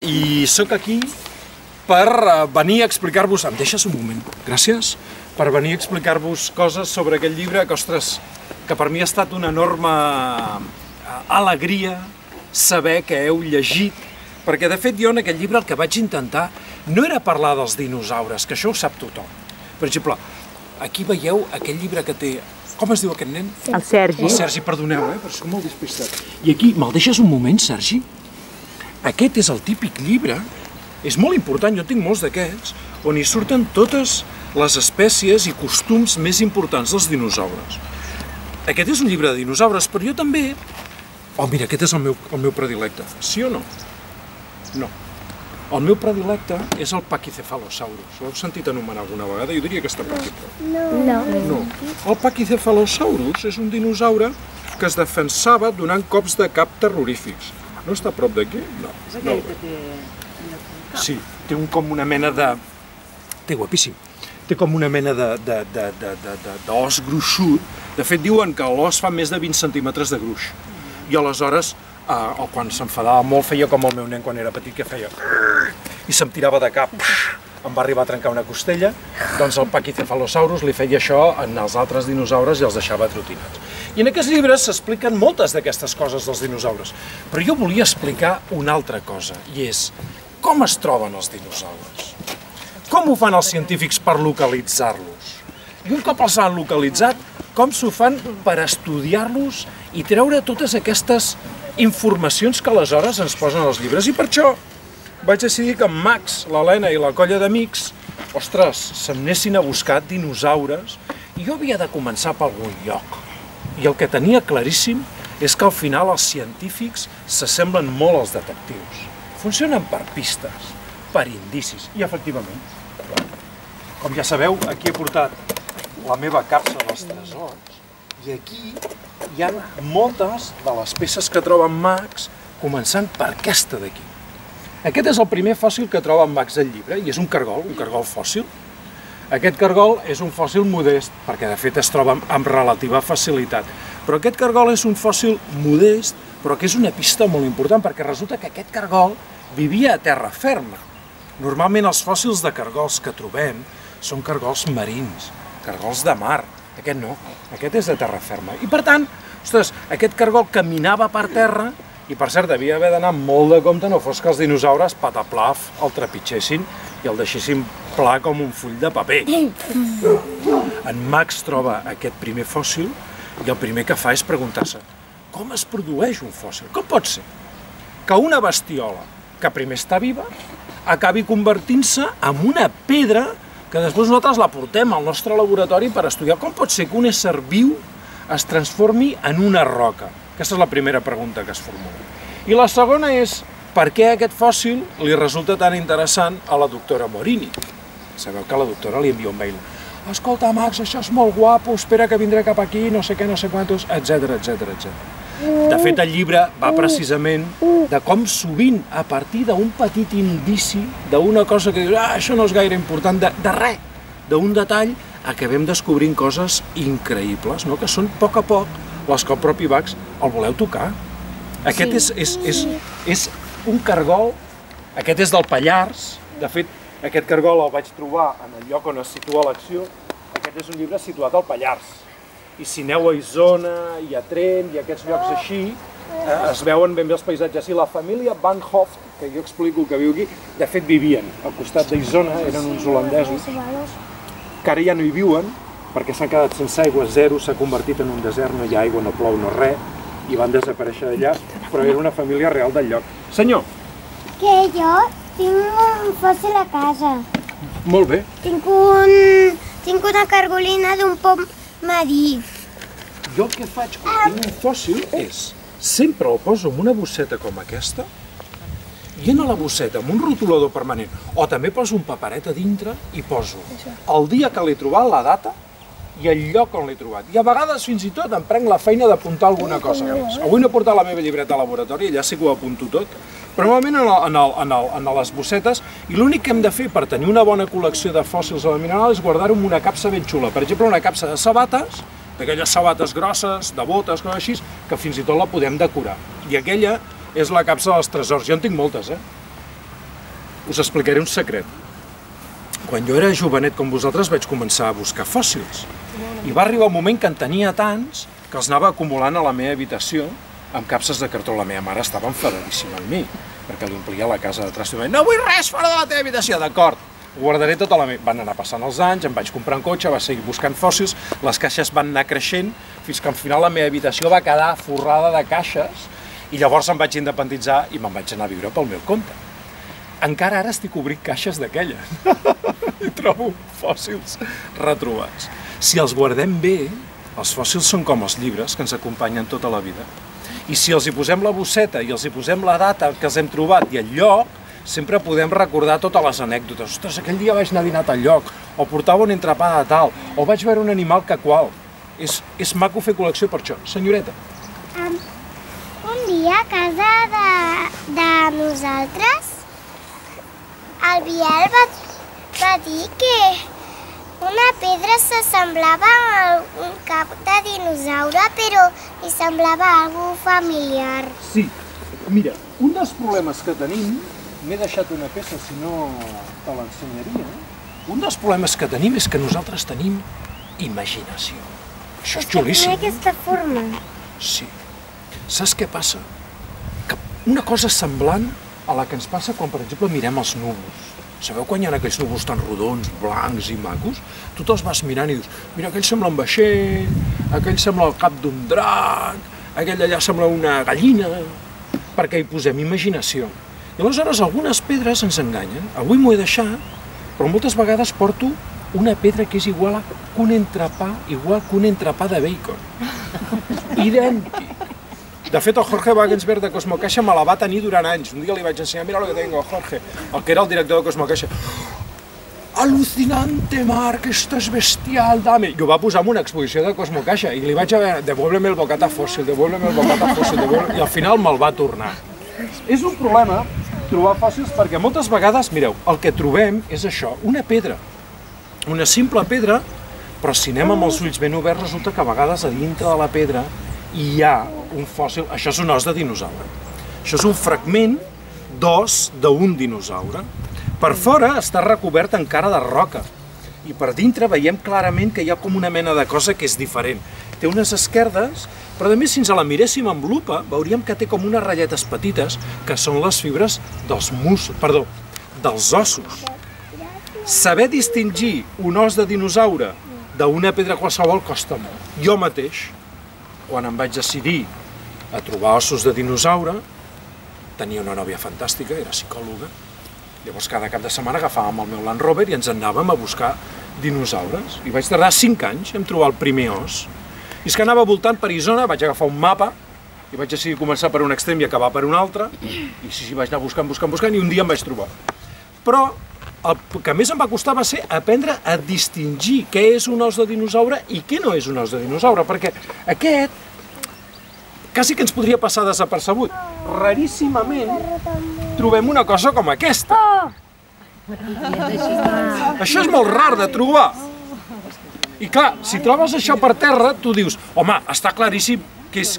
I sóc aquí per venir a explicar-vos... Em deixes un moment? Gràcies. Per venir a explicar-vos coses sobre aquest llibre que, ostres, que per mi ha estat una enorme alegria saber que heu llegit, perquè de fet jo en aquest llibre el que vaig intentar no era parlar dels dinosaures, que això ho sap tothom. Per exemple, aquí veieu aquell llibre que té... Com es diu aquest nen? El Sergi. El Sergi, perdoneu, però soc molt despistat. I aquí, me'l deixes un moment, Sergi? Aquest és el típic llibre, és molt important, jo tinc molts d'aquests, on hi surten totes les espècies i costums més importants dels dinosaures. Aquest és un llibre de dinosaures, però jo també... Oh, mira, aquest és el meu predilecte. Sí o no? No. El meu predilecte és el Pachycephalosaurus. L'heu sentit anomenar alguna vegada? Jo diria que està per aquí. No. El Pachycephalosaurus és un dinosaure que es defensava donant cops de cap terrorífics. No està a prop d'aquí? No. És aquell que té... Sí, té com una mena de... Té guapíssim. Té com una mena d'os gruixut. De fet, diuen que l'os fa més de 20 centímetres de gruix. I aleshores, quan s'enfadava molt, feia com el meu nen quan era petit, que feia... I se'm tirava de cap. Em va arribar a trencar una costella. Doncs el Pachycephalosaurus li feia això als altres dinosaures i els deixava atrotinats. I en aquests llibres s'expliquen moltes d'aquestes coses dels dinosaures. Però jo volia explicar una altra cosa, i és com es troben els dinosaures? Com ho fan els científics per localitzar-los? I un cop els han localitzat, com s'ho fan per estudiar-los i treure totes aquestes informacions que aleshores ens posen als llibres? I per això vaig decidir que en Max, l'Helena i la colla d'amics, ostres, se'n anessin a buscar dinosaures i jo havia de començar per algun lloc. I el que tenia claríssim és que al final els científics s'assemblen molt als detectius. Funcionen per pistes, per indicis, i efectivament. Com ja sabeu, aquí he portat la meva capsa dels tresors i aquí hi ha moltes de les peces que troba en Max, començant per aquesta d'aquí. Aquest és el primer fòssil que troba en Max al llibre i és un cargol fòssil. Aquest cargol és un fòssil modest, perquè de fet es troba amb relativa facilitat. Però aquest cargol és un fòssil modest, però que és una pista molt important, perquè resulta que aquest cargol vivia a terra ferma. Normalment els fòssils de cargols que trobem són cargols marins, cargols de mar. Aquest no, aquest és de terra ferma. I per tant, ostres, aquest cargol caminava per terra i per cert devia haver d'anar molt de compte, no fos que els dinosaures pataplaf el trepitgessin i el deixessin pla com un full de paper. En Max troba aquest primer fòssil i el primer que fa és preguntar-se com es produeix un fòssil? Com pot ser que una bestiola que primer està viva acabi convertint-se en una pedra que després nosaltres la portem al nostre laboratori per estudiar com pot ser que un ésser viu es transformi en una roca? Aquesta és la primera pregunta que es formula. I la segona és per què aquest fòssil li resulta tan interessant a la doctora Morini. Sabeu que la doctora li envia un mail. Escolta, Max, això és molt guapo, espera que vindré cap aquí, no sé què, no sé quantos, etc. De fet, el llibre va precisament de com sovint, a partir d'un petit indici, d'una cosa que dius, això no és gaire important, de res, d'un detall, acabem descobrint coses increïbles, que són a poc les que el propi Max el voleu tocar. Aquest és un cargol, aquest és del Pallars, de fet, aquest cargol el vaig trobar en el lloc on es situa l'acció, aquest és un llibre situat al Pallars. I si aneu a Isona i a Trent i a aquests llocs així, es veuen ben bé els paisatges. I la família Van Hoft, que jo explico que viu aquí, de fet vivien al costat d'Isona, eren uns holandesos, que ara ja no hi viuen, perquè s'han quedat sense aigua, zero, s'ha convertit en un desert, no hi ha aigua, no plou, no res, i van desaparèixer d'allà, però era una família real del lloc. Senyor! Que jo tinc un fòssil a casa. Molt bé. Tinc una cargolina d'un pom marí. Jo el que faig quan tinc un fòssil és, sempre el poso en una bosseta com aquesta, i en la bosseta amb un rotulador permanent, o també poso un paperet a dintre i poso el dia que l'he trobat, la data, i el lloc on l'he trobat. I a vegades fins i tot em prenc la feina d'apuntar alguna cosa més. Avui no he portat la meva llibreta al laboratori, allà sí que ho apunto tot, però normalment en les bossetes, i l'únic que hem de fer per tenir una bona col·lecció de fòssils a la mineral és guardar-ho en una capsa ben xula. Per exemple, una capsa de sabates, d'aquelles sabates grosses, de botes, coses així, que fins i tot la podem decorar. I aquella és la capsa dels tresors. Jo en tinc moltes, us explicaré un secret. Quan jo era jovenet com vosaltres vaig començar a buscar fòssils. I va arribar un moment que en tenia tants que els anava acumulant a la meva habitació amb capses de cartró. La meva mare estava enfadadíssima amb mi, perquè li omplia la casa de trasto. No vull res fora de la teva habitació, d'acord. Ho guardaré tota la meva... Van anar passant els anys, em vaig comprar un cotxe, vaig seguir buscant fòssils, les caixes van anar creixent, fins que al final la meva habitació va quedar forrada de caixes i llavors em vaig independitzar i me'n vaig anar a viure pel meu compte. Encara ara estic obrint caixes d'aquelles i trobo fòssils retrobats. Si els guardem bé, els fòssils són com els llibres que ens acompanyen tota la vida. I si els hi posem la bosseta i els hi posem la data que els hem trobat i el lloc, sempre podem recordar totes les anècdotes. Ostres, aquell dia vaig anar a dinar a tal lloc, o portava un entrepà de tal, o vaig veure un animal que qual. És maco fer col·lecció per això. Senyoreta. Un dia a casa de nosaltres, el Biel va dir que una pedra s'assemblava a un cap de dinosaure, però li semblava algo familiar. Sí, mira, un dels problemes que tenim, m'he deixat una peça, si no te l'ensenyaria, un dels problemes que tenim és que nosaltres tenim imaginació. Això és xulíssim. Té aquesta forma. Sí. Saps què passa? Que una cosa semblant a la que ens passa quan, per exemple, mirem els núvols. Sabeu quan hi ha aquells núvols tan rodons, blancs i macos? Tu te'ls vas mirant i dius, mira, aquell sembla un vaixell, aquell sembla el cap d'un drac, aquell allà sembla una gallina, perquè hi posem imaginació. I aleshores algunes pedres ens enganyen. Avui m'ho he deixat, però moltes vegades porto una pedra que és igual que un entrepà de bacon. Idèntic. De fet, el Jorge Wagensberg de Cosmocaixa me la va tenir durant anys. Un dia li vaig ensenyar, mira lo que tengo, Jorge, el que era el director de Cosmocaixa. Alucinante, Marc, esto es bestial, dame. I ho va posar en una exposició de Cosmocaixa i li vaig a veure, devuélveme el bocata fòssil, devuélveme el bocata fòssil, i al final me'l va tornar. És un problema trobar fòssils perquè moltes vegades, mireu, el que trobem és això, una pedra. Una simple pedra, però si anem amb els ulls ben oberts resulta que a vegades a dintre de la pedra hi ha un fòssil, això és un os de dinosaure. Això és un fragment d'os d'un dinosaure. Per fora està recobert encara de roca i per dintre veiem clarament que hi ha com una mena de cosa que és diferent. Té unes esquerdes, però a més si ens la miréssim amb lupa veuríem que té com unes ratlletes petites que són les fibres dels ossos. Saber distingir un os de dinosaure d'una pedra qualsevol costa molt. Jo mateix, quan em vaig decidir a trobar ossos de dinosaure, tenia una nòvia fantàstica, era psicòloga, llavors cada cap de setmana agafàvem el meu Land Rover i ens anàvem a buscar dinosaures. I vaig tardar 5 anys en trobar el primer os. I és que anava voltant per Isona, vaig agafar un mapa i vaig decidir començar per un extrem i acabar per un altre, i sí, vaig anar buscant, i un dia em vaig trobar. Però el que més em va costar va ser aprendre a distingir què és un os de dinosaure i què no és un os de dinosaure, perquè aquest quasi que ens podria passar desapercebut. Raríssimament trobem una cosa com aquesta. Això és molt rar de trobar. I clar, si trobes això per terra, tu dius, home, està claríssim que és...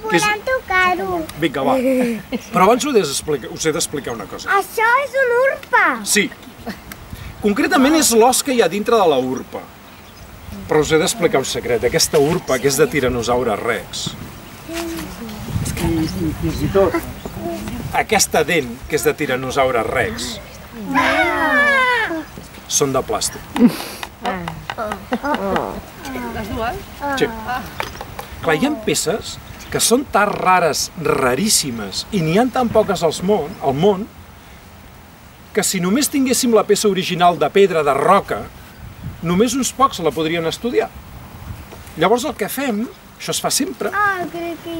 Podem tocar-ho. Vinga, va. Però abans us he d'explicar una cosa. Això és una urpa. Sí. Concretament és l'os que hi ha dintre de la urpa. Però us he d'explicar un secret. Aquesta urpa, que és de Tyrannosaurus rex, i fins i tot aquesta dent, que és de Tyrannosaurus rex, són de plàstic. Les dues? Sí. Clar, hi ha peces que són tan rares, raríssimes, i n'hi ha tan poques al món, que si només tinguéssim la peça original de pedra, de roca, només uns pocs la podrien estudiar. Llavors el que fem, això es fa sempre,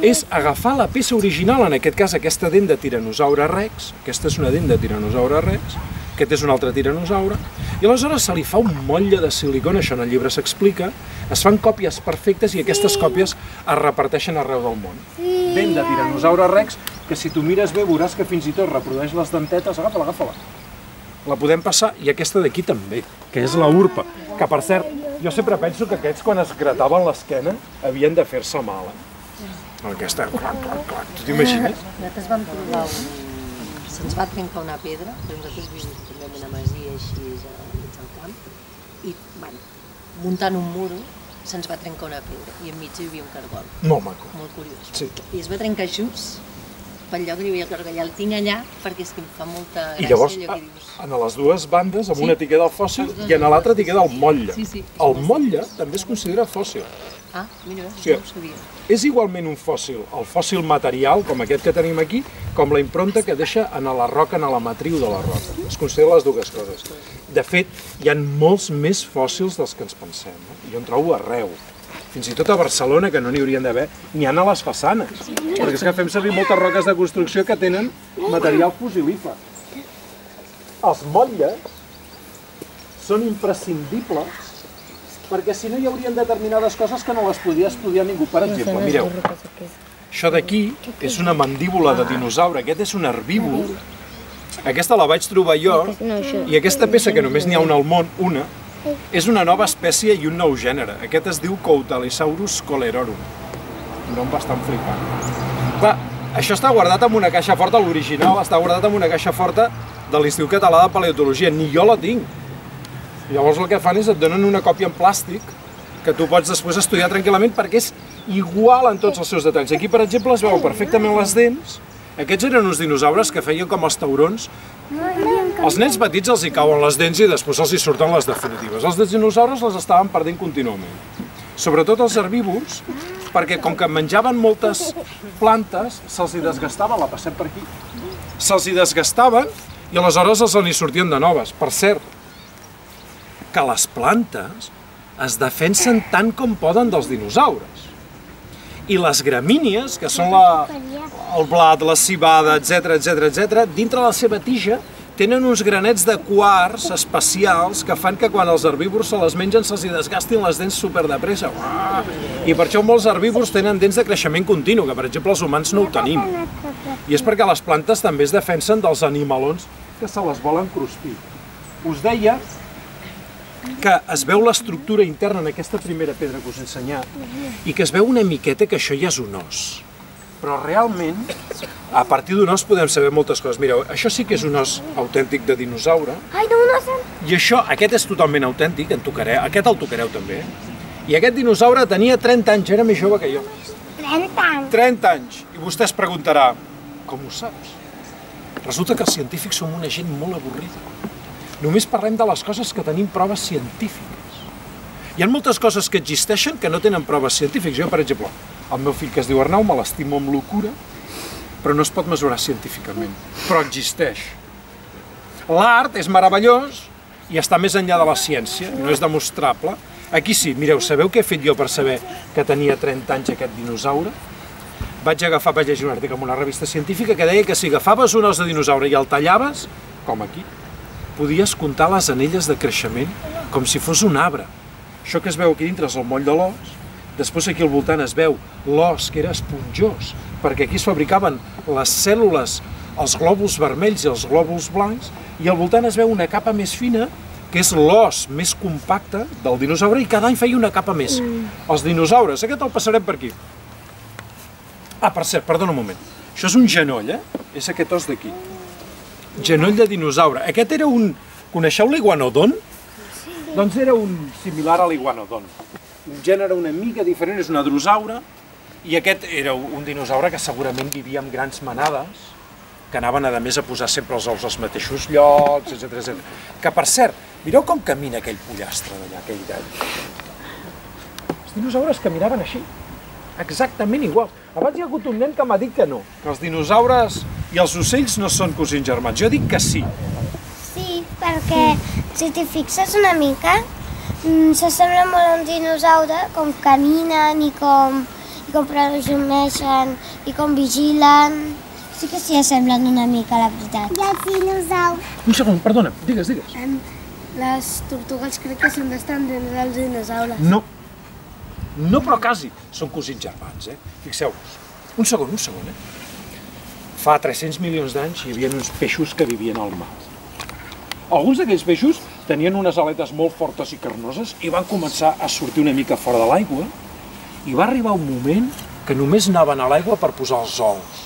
és agafar la peça original, en aquest cas aquesta dent de Tyrannosaurus rex, aquesta és una dent de Tyrannosaurus rex, aquest és un altre tiranosaure, i aleshores se li fa un motlle de silicona, això en el llibre s'explica, es fan còpies perfectes i aquestes còpies es reparteixen arreu del món. Dent de Tyrannosaurus rex, que si tu mires bé veuràs que fins i tot reprodueix les dentetes, agafa-la. La podem passar, i aquesta d'aquí també, que és la urpa, que per cert, jo sempre penso que aquests quan es grataven l'esquena havien de fer-se mal. Aquesta, clac, tu t'imagines? Nosaltres vam provar un. se'ns va trencar una pedra, perquè nosaltres vivim també en una masia així mig al camp, i muntant un muro se'ns va trencar una pedra i enmig hi havia un cargol. Molt maco. Molt curiós. Sí. I es va trencar just pel lloc que hi havia el cargol. Ja el tinc allà perquè és que em fa molta gràcia. I llavors, allò que dius. a les dues bandes, amb una t'hi queda el fòssil i a l'altra t'hi queda el motlle. Sí, sí. El motlle també es considera fòssil. Ah, mira, Sí. no ho sabia. És igualment un fòssil, el fòssil material, com aquest que tenim aquí, com la impronta que deixa en la roca, en la matriu de la roca. Es considera les dues coses. De fet, hi ha molts més fòssils dels que ens pensem. Jo en trobo arreu. Fins i tot a Barcelona, que no n'hi haurien d'haver, n'hi ha a les façanes. Perquè és que fem servir moltes roques de construcció que tenen material fossilífer. Els motlles són imprescindibles perquè si no hi haurien determinades coses que no les podria estudiar ningú. Per exemple, mireu, això d'aquí és una mandíbula de dinosaure, aquest és un herbívor. Aquesta la vaig trobar jo, i aquesta peça, que només n'hi ha una al món, una, és una nova espècie i un nou gènere. Aquest es diu Coutalisaurus colerorum. Un nom bastant flipant. Clar, això està guardat en una caixa forta, l'original està guardat en una caixa forta de l'Institut Català de Paleontologia. Ni jo la tinc. Llavors el que fan és et donen una còpia en plàstic que tu pots després estudiar tranquil·lament perquè és igual en tots els seus detalls. Aquí, per exemple, es veu perfectament les dents. Aquests eren uns dinosaures que feien com els taurons. Els nens petits els hi cauen les dents i després els hi surten les definitives. Els dinosaures les estaven perdent contínuament. Sobretot els herbívors, perquè com que menjaven moltes plantes, se'ls hi desgastaven, la passem per aquí, se'ls hi desgastaven i aleshores els n'hi sortien de noves. Per cert, que les plantes es defensen tant com poden dels dinosaures. I les gramínies, que són el blat, la civada, etc., dintre la seva tija tenen uns granets de quars especials que fan que quan els herbívors se les mengen se'ls desgastin les dents superdepressa. I per això molts herbívors tenen dents de creixement continu, que per exemple els humans no ho tenim. I és perquè les plantes també es defensen dels animalons que se les volen crustir. Us deia que es veu l'estructura interna en aquesta primera pedra que us he ensenyat i que es veu una miqueta que això ja és un os. Però realment, a partir d'un os podem saber moltes coses. Mireu, això sí que és un os autèntic de dinosaure. Ai, no, no, I això, aquest és totalment autèntic, aquest el tocareu també. I aquest dinosaure tenia 30 anys, era més jove que jo. 30 anys. 30 anys. I vostè es preguntarà, com ho saps? Resulta que els científics som una gent molt avorrida. Només parlem de les coses que tenim proves científiques. Hi ha moltes coses que existeixen que no tenen proves científiques. Jo, per exemple, el meu fill que es diu Arnau me l'estimo amb locura, però no es pot mesurar científicament. Però existeix. L'art és meravellós i està més enllà de la ciència, no és demostrable. Aquí sí, mireu, sabeu què he fet jo per saber que tenia 30 anys aquest dinosaure? Vaig llegir un article en una revista científica que deia que si agafaves un os de dinosaure i el tallaves, com aquí, podies comptar les anelles de creixement com si fos un arbre. Això que es veu aquí dintre és el moll de l'os, després aquí al voltant es veu l'os que era esponjós, perquè aquí es fabricaven les cèl·lules, els glòbuls vermells i els glòbuls blancs, i al voltant es veu una capa més fina, que és l'os més compacte del dinosaure, i cada any feia una capa més. Els dinosaures, aquest el passarem per aquí. Ah, per cert, perdona un moment. Això és un genoll, És aquest os d'aquí. Genoll de dinosaure. Aquest era un... Coneixeu l'iguanodon? Sí. Doncs era un similar a l'iguanodon. Un gènere una mica diferent, és un hadrosaure, i aquest era un dinosaure que segurament vivia en grans manades, que anaven a més a posar sempre els ous als mateixos llocs, etc. Que, per cert, mireu com camina aquell pollastre d'allà, aquell gall. Els dinosaures caminaven així, exactament igual. Abans hi ha hagut un nen que m'ha dit que no, que els dinosaures i els ocells no són cosins germans. Jo dic que sí. Sí, perquè si t'hi fixes una mica, s'assembla molt a un dinosaure, com caminen i com presumeixen i com vigilen. Sí que s'hi assemblen una mica, la veritat. I els dinosaures? Un segon, perdona, digues. Les tortugues crec que són descendents dels dinosaures. No. No, però quasi. Són cosins germans, Fixeu-vos. Un segon, Fa 300 milions d'anys hi havia uns peixos que vivien al mar. Alguns d'aquells peixos tenien unes aletes molt fortes i carnoses i van començar a sortir una mica fora de l'aigua i va arribar un moment que només anaven a l'aigua per posar els ous.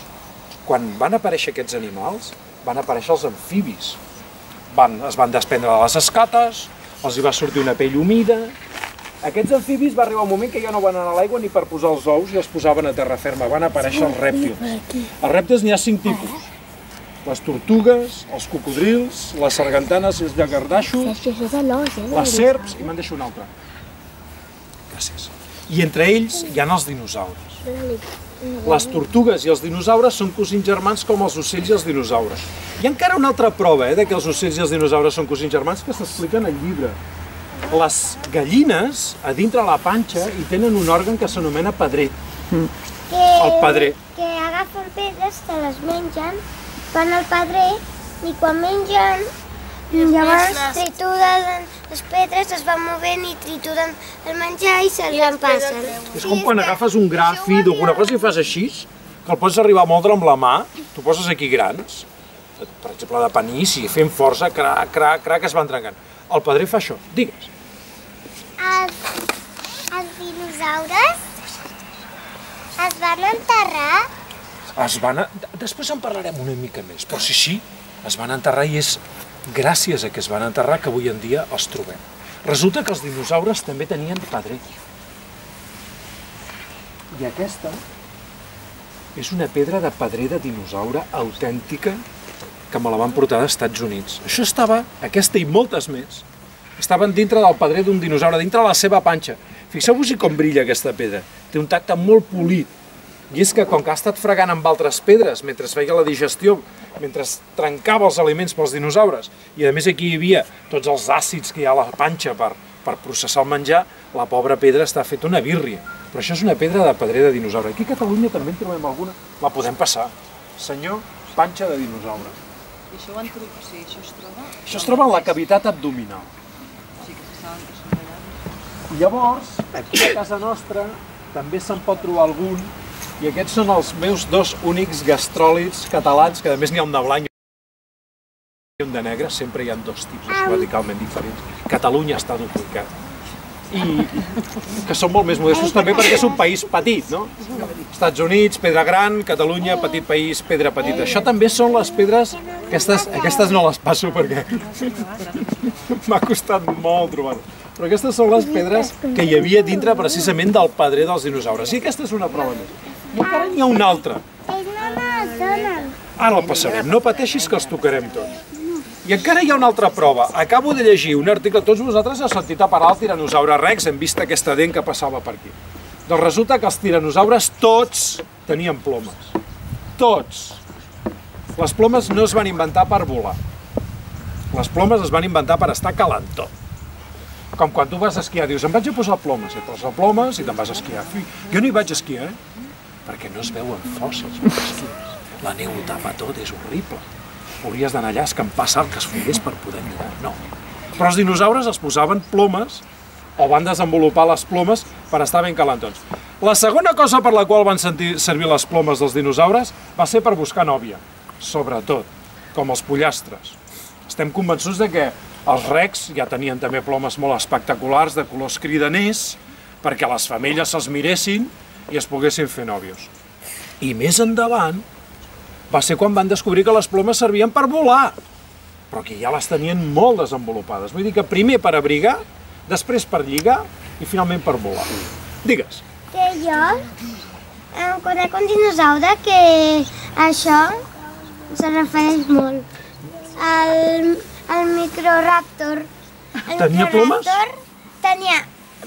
Quan van aparèixer aquests animals, van aparèixer els amfibis. Es van desprendre de les escates, els hi va sortir una pell humida. Aquests amfibis va arribar un moment que ja no van anar a l'aigua ni per posar els ous i els posaven a terra ferma, van aparèixer els rèptils. Els rèptils n'hi ha 5 tipus. Les tortugues, els cocodrils, les sargantanes i els llagardaixos, les serps i me'n deixo un altre. Gràcies. I entre ells hi ha els dinosaures. Les tortugues i els dinosaures són cosins germans com els ocells i els dinosaures. Hi ha encara una altra prova de que els ocells i els dinosaures són cosins germans que s'explica en el llibre. Les gallines, a dintre la panxa, hi tenen un òrgan que s'anomena pedrer. El pedrer. Que agafen pedres, se les mengen, van al pedrer i quan mengen, llavors trituren les pedres, es van movent i trituren el menjar i se'ls empassen. És com quan agafes un gra fi d'alguna cosa i fas així, que el pots arribar a moldre amb la mà, tu poses aquí grans, per exemple de panís, i fent força, crac, crac, crac, es van trencant. El pedrer fa això, digues. Els dinosaures es van enterrar? Després en parlarem una mica més, però sí, es van enterrar i és gràcies a que es van enterrar que avui en dia els trobem. Resulta que els dinosaures també tenien pedrer. I aquesta és una pedra de pedrer de dinosaure autèntica que me la van portar dels Estats Units. Això estava, aquesta i moltes més, estaven dintre del pedrer d'un dinosaure, dintre de la seva panxa. Fixeu-vos-hi com brilla aquesta pedra. Té un tacte molt polit. I és que com que ha estat fregant amb altres pedres mentre feia la digestió, mentre trencava els aliments pels dinosaures, i a més aquí hi havia tots els àcids que hi ha a la panxa per processar el menjar, la pobra pedra està feta una bírria. Però això és una pedra de pedrer de dinosaure. Aquí a Catalunya també en trobem alguna. La podem passar. Senyor, panxa de dinosaure. I això ho han trobat? O sigui, això es troba? Això es troba en la cavitat abdominal. O sigui que se saben que són allà. I llavors, aquí a casa nostra, també se'n pot trobar algun, i aquests són els meus 2 únics gastròlits catalans, que a més n'hi ha un de blanc i un de negre, sempre hi ha 2 tipus radicalment diferents. Catalunya està duplicat. I que són molt més modestos també perquè és un país petit, no? Estats Units, pedra gran, Catalunya, petit país, pedra petita. Això també són les pedres, aquestes no les passo perquè m'ha costat molt trobar-les. Però aquestes són les pedres que hi havia dintre precisament del pedrer dels dinosaures. I aquesta és una prova més. I encara n'hi ha una altra. Ara el passarem, no pateixis que els tocarem tots. I encara hi ha una altra prova. Acabo de llegir un article, tots vosaltres heu sentit a parlar del tiranosaure rex, hem vist aquesta dent que passava per aquí. Doncs resulta que els tiranosaures tots tenien plomes. Tots. Les plomes no es van inventar per volar. Les plomes es van inventar per estar calentó. Com quan tu vas a esquiar, dius, em vaig a posar plomes, et poses plomes i te'n vas a esquiar. Jo no hi vaig a esquiar, perquè no es veuen fòssils per esquiar. La neu ho tapa tot, és horrible. Hauries d'anar allà a escampar sal que es fogués per poder mirar, no. Però els dinosaures es posaven plomes, o van desenvolupar les plomes per estar ben calentons. La segona cosa per la qual van servir les plomes dels dinosaures va ser per buscar nòvia, sobretot, com els pollastres. Estem convençuts de que els recs ja tenien també plomes molt espectaculars, de colors cridaners, perquè les femelles se'ls miressin i es poguessin fer nòvios. I més endavant va ser quan van descobrir que les plomes servien per volar, però que ja les tenien molt desenvolupades. Vull dir que primer per abrigar, després per lligar i finalment per volar. Digues. Que jo em conec un dinosaure que això se refereix molt. El Microraptor. Tenia plomes? Tenia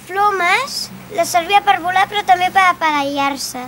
plomes, les servia per volar però també per aparellar-se.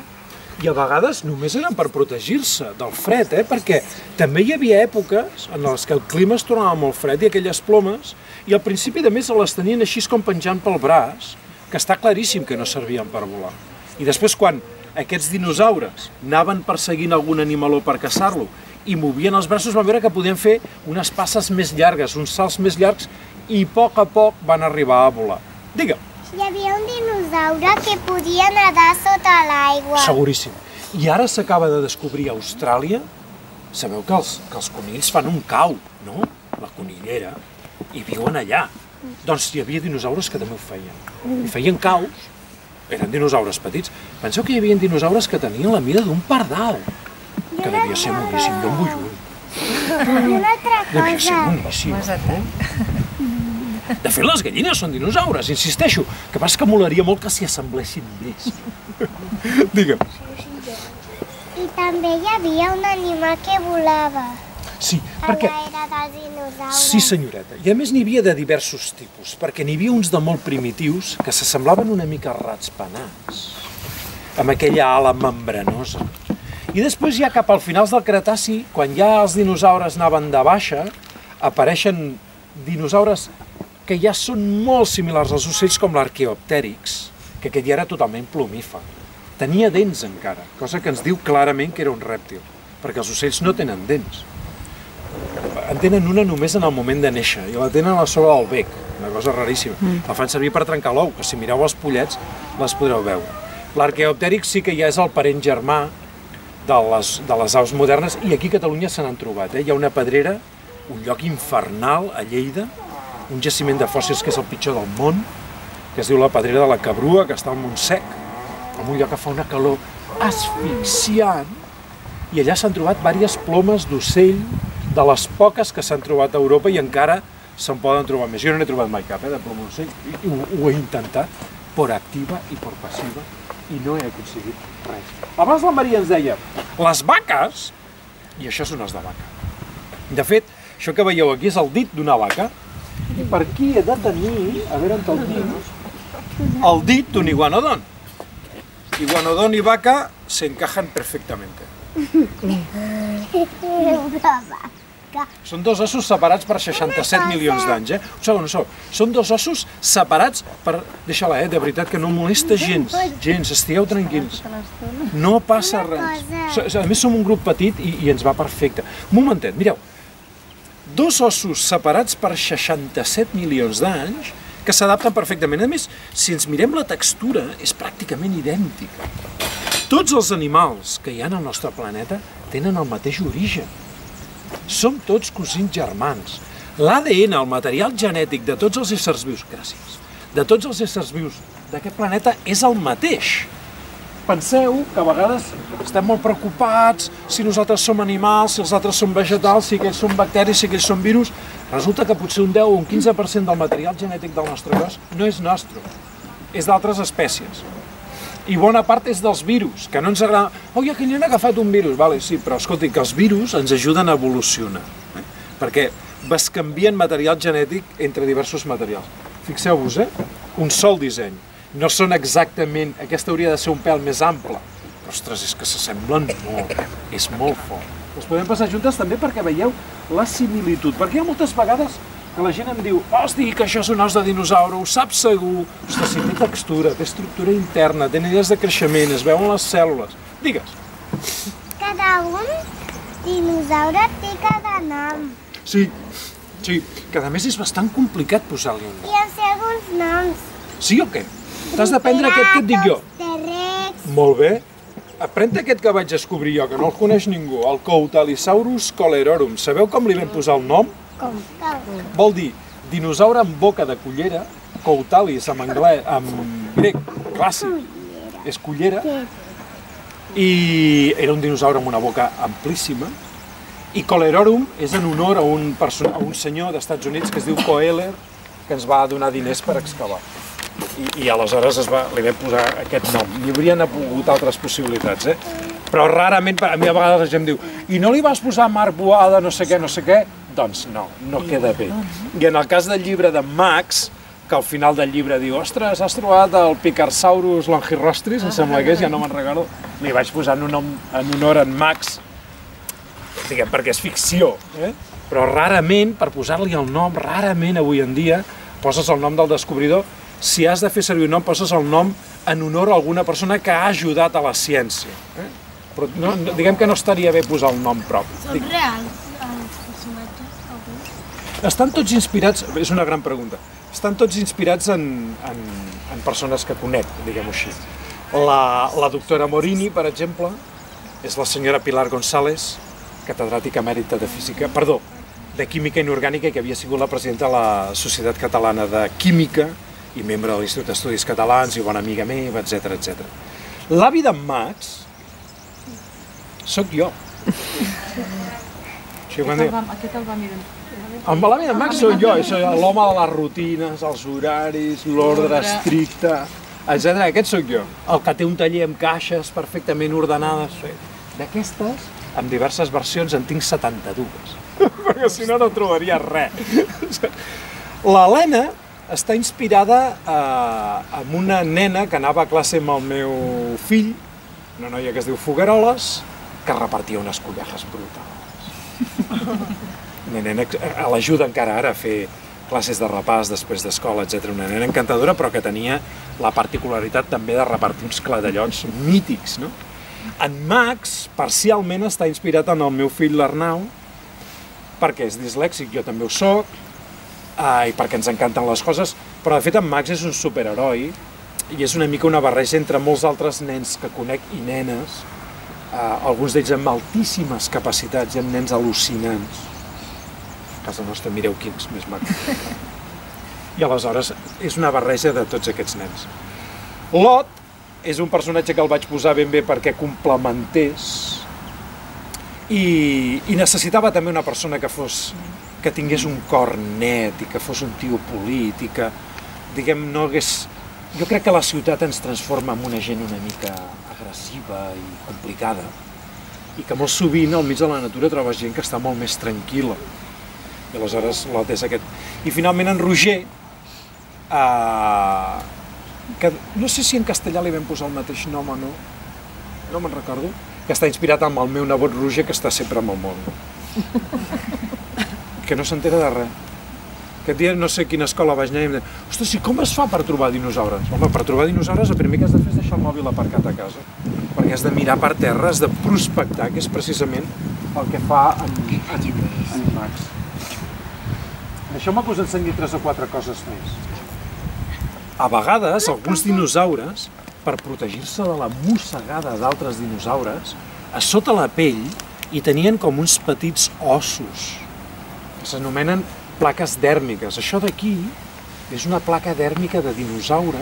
I a vegades només eren per protegir-se del fred, perquè també hi havia èpoques en les que el clima es tornava molt fred i aquelles plomes, i al principi de més les tenien així com penjant pel braç, que està claríssim que no servien per volar. I després quan aquests dinosaures anaven perseguint algun animaló per caçar-lo i movien els braços, van veure que podien fer unes passes més llargues, uns salts més llargs, i a poc van arribar a volar. Digue'm. Hi havia un dinosaure que podia nedar sota l'aigua. Seguríssim. I ara s'acaba de descobrir a Austràlia, sabeu que els conills fan un cau, no? La conillera, i viuen allà. Doncs hi havia dinosaures que també ho feien. I feien caus, eren dinosaures petits. Penseu que hi havia dinosaures que tenien la mida d'un pardal, que devia ser boníssim, jo en vull un. I una altra Devia ser cosa. boníssim, no? De fet, les gallines són dinosaures, insisteixo. Que passa que molaria molt que s'hi assemblessin més. Digue'm. I també hi havia un animal que volava Sí, a perquè... l'era dels dinosaures. Sí, senyoreta. I a més n'hi havia de diversos tipus, perquè n'hi havia uns de molt primitius que s'assemblaven una mica a ratspanats, amb aquella ala membranosa. I després ja cap al finals del Cretaci, quan ja els dinosaures anaven de baixa, apareixen dinosaures que ja són molt similars als ocells com l'arqueoptèrix, que aquest ja era totalment plomífer. Tenia dents encara, cosa que ens diu clarament que era un rèptil, perquè els ocells no tenen dents. En tenen una només en el moment de néixer, i la tenen a sobre del bec, una cosa raríssima. La fan servir per trencar l'ou, que si mireu els pollets les podreu veure. L'arqueoptèrix sí que ja és el parent germà de les aus modernes, i aquí a Catalunya se n'han trobat. Hi ha una pedrera, un lloc infernal a Lleida, un jaciment de fòssils que és el pitjor del món, que es diu la Pedrera de la Cabrua, que està al Montsec, en un lloc que fa una calor asfixiant, i allà s'han trobat diverses plomes d'ocell, de les poques que s'han trobat a Europa, i encara se'n poden trobar més. Jo no n'he trobat mai cap, de ploma d'ocell, i ho he intentat, per activa i per passiva, i no he aconseguit res. Abans la Maria ens deia, les vaques, i això és un os de vaca. De fet, això que veieu aquí és el dit d'una vaca, i per aquí he de tenir, a veure on el tinc, el dit d'un iguanodon. Iguanodon y vaca se encajan perfectamente. Són dos ossos separats per 67 milions d'anys, Un segon, Són dos ossos separats per... Deixa-la, de veritat que no molesta gens, estigueu tranquils. No passa res. A més, som un grup petit i ens va perfecte. Un momentet, mireu. Dos ossos separats per 67 milions d'anys que s'adapten perfectament. A més, si ens mirem la textura, és pràcticament idèntica. Tots els animals que hi ha al nostre planeta tenen el mateix origen. Som tots cosins germans. L'ADN, el material genètic de tots els éssers vius, de tots els éssers vius d'aquest planeta és el mateix. Penseu que a vegades estem molt preocupats si nosaltres som animals, si els altres són vegetals, si aquells són bacteris, si aquells són virus. Resulta que potser un 10 o un 15% del material genètic del nostre cos no és nostre, és d'altres espècies. I bona part és dels virus, que no ens agrada... Oi, aquell nen ha agafat un virus. Vale, sí, però escolti, que els virus ens ajuden a evolucionar, perquè bescanvien material genètic entre diversos materials. Fixeu-vos, un sol disseny. No són exactament... Aquesta hauria de ser un pèl més ample. Però, ostres, és que s'assemblen molt. És molt fort. Les podem passar juntes també perquè veieu la similitud. Perquè hi ha moltes vegades que la gent em diu hosti, que això és un os de dinosaure, ho saps segur. Ostres, si té textura, té estructura interna, té nivells de creixement, es veuen les cèl·lules. Digues. Cada un dinosaure té cada nom. Sí, que a més és bastant complicat posar-li un nom. I en sé alguns noms. Sí o què? T'has d'aprendre aquest que et dic jo. T-Rex. Molt bé. Aprèn aquest que vaig descobrir jo, que no el coneix ningú, el Coutalisaurus colerorum. Sabeu com li vam posar el nom? Com? Vol dir dinosaure amb boca de cullera, Coutalis en anglès, en grec, clàssic, és cullera, i era un dinosaure amb una boca amplíssima, i Colerorum és en honor a un senyor d'Estats Units que es diu Coeller, que ens va donar diners per excavar. I aleshores li vam posar aquest nom. Hi haurien hagut altres possibilitats, Però rarament, a mi a vegades la gent diu i no li vas posar Marc Boada, no sé què? Doncs no queda bé. I en el cas del llibre de Max, que al final del llibre diu ostres, has trobat el Picarsaurus longirostris, em sembla que és, ja no me'n recordo, li vaig posar un nom en honor a en Max, diguem, perquè és ficció, però rarament, per posar-li el nom, rarament avui en dia, poses el nom del descobridor. Si has de fer servir un nom, poses el nom en honor a alguna persona que ha ajudat a la ciència. Però diguem que no estaria bé posar el nom propi. Són reals els personatges, alguns? Estan tots inspirats, és una gran pregunta, estan tots inspirats en persones que conec, diguem-ho així. La doctora Morini, per exemple, és la senyora Pilar González, catedràtica emèrita de física, perdó, de química inorgànica, que havia sigut la presidenta de la Societat Catalana de Química i membre de l'Institut d'Estudis Catalans i bona amiga meva, etc. L'avi d'en Max sóc jo. Aquest el va mirar. Amb la meva Max sóc jo, l'home de les rutines, els horaris, l'ordre estricte, etc. Aquest sóc jo, el que té un taller amb caixes perfectament ordenades. D'aquestes, amb diverses versions, en tinc 72, perquè si no, no trobaria res. L'Helena està inspirada en una nena que anava a classe amb el meu fill, una noia que es diu Fogueroles, que repartia unes collejas brutals. Una nena a l'ajuda encara ara a fer classes de repàs després d'escola, etc. Una nena encantadora, però que tenia la particularitat també de repartir uns cladellots mítics, no? En Max, parcialment, està inspirat en el meu fill l'Arnau, perquè és dislèxic, jo també ho soc, i perquè ens encanten les coses, però de fet en Max és un superheroi i és una mica una barreja entre molts altres nens que conec i nenes, alguns d'ells amb altíssimes capacitats i amb nens al·lucinants. A casa nostra mireu quins més macos. I aleshores és una barreja de tots aquests nens. Lot és un personatge que el vaig posar ben bé perquè complementés i necessitava també una persona que tingués un cor net i que fos un tio polit i que, diguem, no hagués... Jo crec que la ciutat ens transforma en una gent una mica agressiva i complicada i que molt sovint al mig de la natura trobes gent que està molt més tranquil·la. I aleshores Lot és aquest. I finalment en Roger, que no sé si en castellà li vam posar el mateix nom o no, no me'n recordo, que està inspirat en el meu nebot Roger, que està sempre amb el món. Que no s'entera de res. Aquest dia no sé a quina escola vaig anar i em deia, ostres, i com es fa per trobar dinosaures? Home, per trobar dinosaures el primer que has de fer és deixar el mòbil aparcat a casa, perquè has de mirar per terra, has de prospectar, que és precisament el que fa en Max. Deixeu-me que us ensenyi 3 o 4 coses més. A vegades, alguns dinosaures, per protegir-se de la mossegada d'altres dinosaures, a sota la pell hi tenien com uns petits ossos, que s'anomenen plaques dèrmiques. Això d'aquí és una placa dèrmica de dinosaure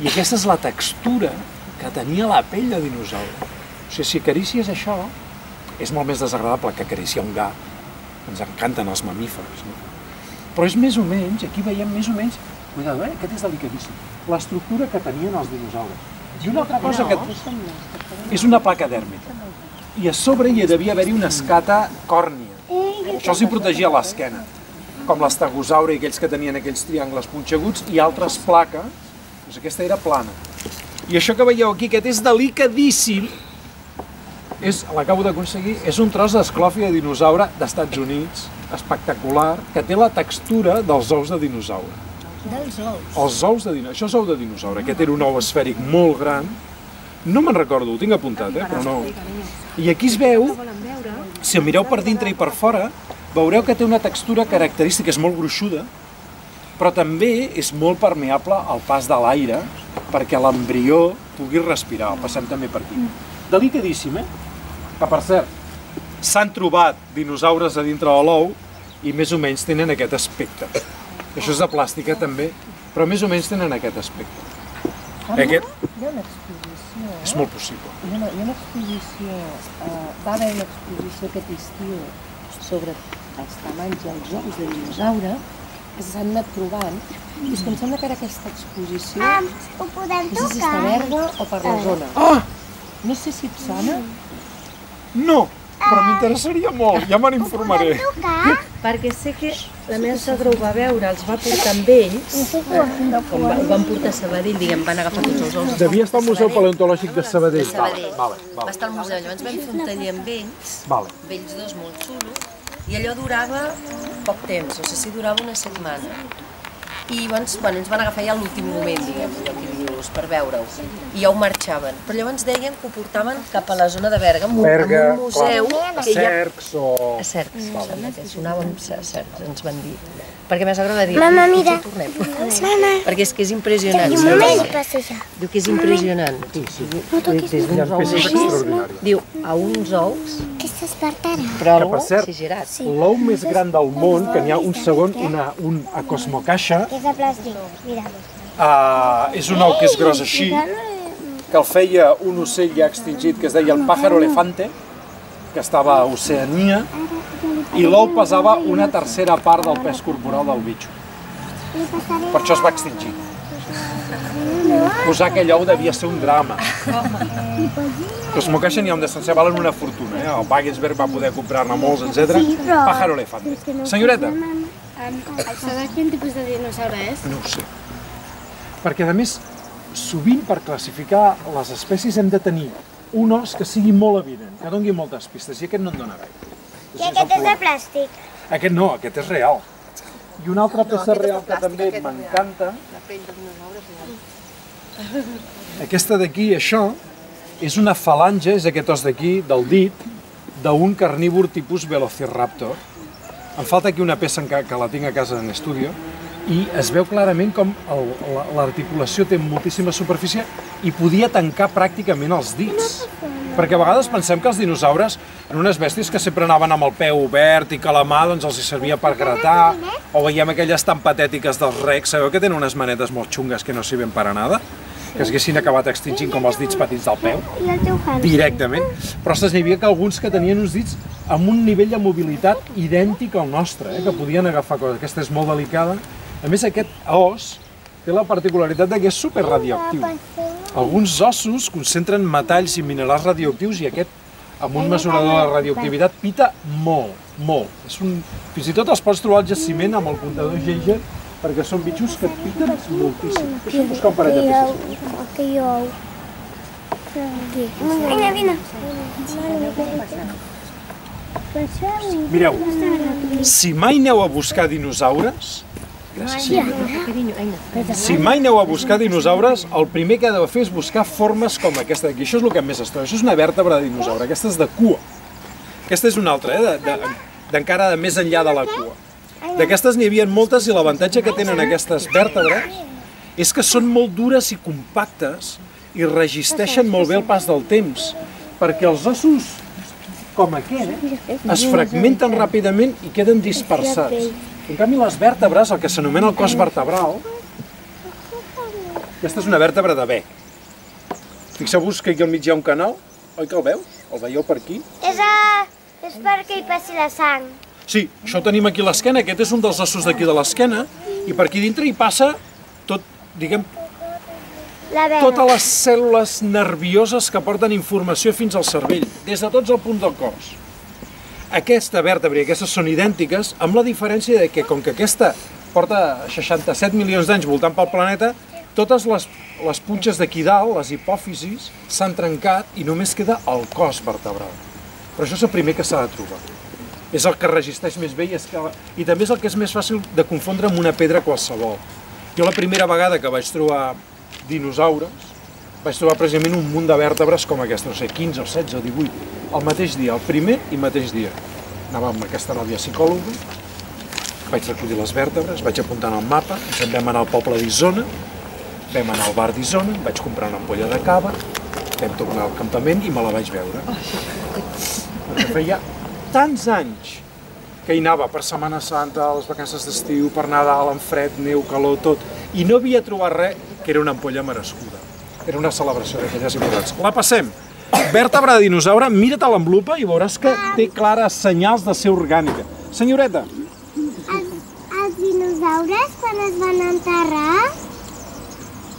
i aquesta és la textura que tenia la pell de dinosaure. O sigui, si acaricies això, és molt més desagradable que acariciar un gat. Ens encanten els mamífers, no? Però és més o menys, aquí veiem més o menys, cuidado, aquest és delicadíssim, l'estructura que tenien els dinosaures. I una altra cosa que és una placa dèrmica. I a sobre hi devia haver-hi una escata còrnia. Això els hi protegia l'esquena, com l'estegosaure i aquells que tenien aquells triangles punxeguts i altres plaques, doncs aquesta era plana. I això que veieu aquí, aquest és delicadíssim, l'acabo d'aconseguir, és un tros d'esclòfia de dinosaure d'Estats Units, espectacular, que té la textura dels ous de dinosaure. Dels ous? Els ous de dinosaure. Això és ou de dinosaure. Aquest era un ou esfèric molt gran. No me'n recordo, ho tinc apuntat, però no. I aquí es veu, si el mireu per dintre i per fora, veureu que té una textura característica, és molt gruixuda, però també és molt permeable al pas de l'aire perquè l'embrió pugui respirar. El passem també per aquí. Delicadíssim, Que per cert, s'han trobat dinosaures a dintre de l'ou i més o menys tenen aquest aspecte. Això és de plàstica també, però més o menys tenen aquest aspecte. Hi ha una exposició... És molt possible. Hi ha una exposició... Va haver una exposició aquest estiu sobre els tamanys i els ous de dinosaure que s'han anat trobant i és que em sembla que ara aquesta exposició Ho podem no sé si està a Berga o per la zona. No sé si et sona. No, però m'interessaria molt, ja me n'informaré. Perquè sé que la meva sogra ho va veure, els va portar amb ells, com ho van portar a Sabadell, diguem, van agafar tots els ous. Devia estar al Museu Paleontològic de Sabadell. De Sabadell. Va estar al museu, llavors vam fer un taller amb ells, ells dos molt xulo, i allò durava poc temps, no sé si durava una setmana. I llavors, ens van agafar ja a l'últim moment, diguem, per veure-ho, i ja ho marxaven. Però llavors deien que ho portaven cap a la zona de Berga, amb un museu... A Cercs o... A Cercs, em sembla que sonaven Cercs, ens van dir. Perquè més agrada dir, Mama, mira. Perquè és que és impressionant. Diu que és impressionant. Diu, a uns ous... Que s'espartarà. Però Que, per cert, l'ou més gran del món, que n'hi ha un segon, un Cosmocaixa, És de plàstic, mira. és un ou que és gros així, que el feia un ocell ja extingit que es deia el pájaro elefante, que estava a Oceania, I l'ou pesava una tercera part del pes corporal del bitxo. Per això es va extingir. Posar aquell ou devia ser un drama. Los Mokashi n'hi ha un d'estància, valen una fortuna. El Wagensberg va poder comprar-ne molts, etc. Pájaro elefante. Senyoreta. Saber quin tipus de dinosaure és? No ho sé. Perquè, a més, sovint per classificar les espècies hem de tenir un os que sigui molt evident, que doni moltes pistes, i aquest no en dona gaire. I aquest és de plàstic. Aquest no, aquest és real. I una altra peça real que també m'encanta... Aquesta d'aquí, això, és una falange, és aquest os d'aquí, del dit, d'un carnívor tipus Velociraptor. Em falta aquí una peça que la tinc a casa en estudi, i es veu clarament com l'articulació té moltíssima superfície i podia tancar pràcticament els dits. Perquè a vegades pensem que els dinosaures eren unes bèsties que sempre anaven amb el peu obert i que la mà doncs, els servia per gratar, o veiem aquelles tan patètiques dels recs, sabeu que tenen unes manetes molt xungues que no sirven per a nada? Que s'haguessin acabat extingint com els dits petits del peu, directament. Però n'hi havia que alguns que tenien uns dits amb un nivell de mobilitat idèntic al nostre, que podien agafar coses. Aquesta és molt delicada. A més, aquest os té la particularitat que és superradioactiu. Alguns ossos concentren metalls i minerals radioactius i aquest, amb un mesurador de radioactivitat, pita molt, molt. Fins i tot els pots trobar al jaciment amb el comptador Geiger, perquè són bitxos que et piten moltíssim. Deixa'm buscar un parell de peces. Aquell ou. Vinga, vine. Mireu, si mai aneu a buscar dinosaures, si mai aneu a buscar dinosaures, el primer que heu de fer és buscar formes com aquesta d'aquí. Això és el que més es troba. Això és una vèrtebra de dinosaure. Aquesta és de cua. Aquesta és una altra, d'encara més enllà de la cua. D'aquestes n'hi havia moltes i l'avantatge que tenen aquestes vèrtebres és que són molt dures i compactes i resisteixen molt bé el pas del temps, perquè els ossos com aquest es fragmenten ràpidament i queden dispersats. En canvi, les vèrtebres, el que s'anomena el cos vertebral, aquesta és una vèrtebra de bec. Fixeu-vos que aquí al mig hi ha un canal, oi que el veus? El veieu per aquí? És perquè hi passi la sang. Sí, això ho tenim aquí a l'esquena, aquest és un dels ossos d'aquí de l'esquena, i per aquí dintre hi passa tot, diguem, totes les cèl·lules nervioses que porten informació fins al cervell, des de tots els punts del cos. Aquesta vèrtebra i aquestes són idèntiques, amb la diferència de que, com que aquesta porta 67 milions d'anys voltant pel planeta, totes les punxes d'aquí dalt, les hipòfisis, s'han trencat i només queda el cos vertebral. Però això és el primer que s'ha de trobar. És el que resisteix més bé i també és el que és més fàcil de confondre amb una pedra qualsevol. Jo la primera vegada que vaig trobar dinosaures, vaig trobar precisament un munt de vèrtebres com aquesta, no sé, 15 o 16 o 18, el mateix dia, el primer i mateix dia. Anava amb aquesta nòvia psicòloga, vaig recollir les vèrtebres, vaig apuntar en el mapa, ens en vam anar al poble d'Isona, vam anar al bar d'Isona, vaig comprar una ampolla de cava, vam tornar al campament i me la vaig veure. Perquè feia tants anys que hi anava per Setmana Santa, a les vacances d'estiu, per Nadal, en fred, neu, calor, tot, i no havia trobat res que era una ampolla merescuda. Era una celebració d'aquelles importants. La passem. Vèrtebra de dinosaure, mira't a l'envelupa i veuràs que té clares senyals de ser orgànica. Senyoreta. Els dinosaures, quan es van enterrar,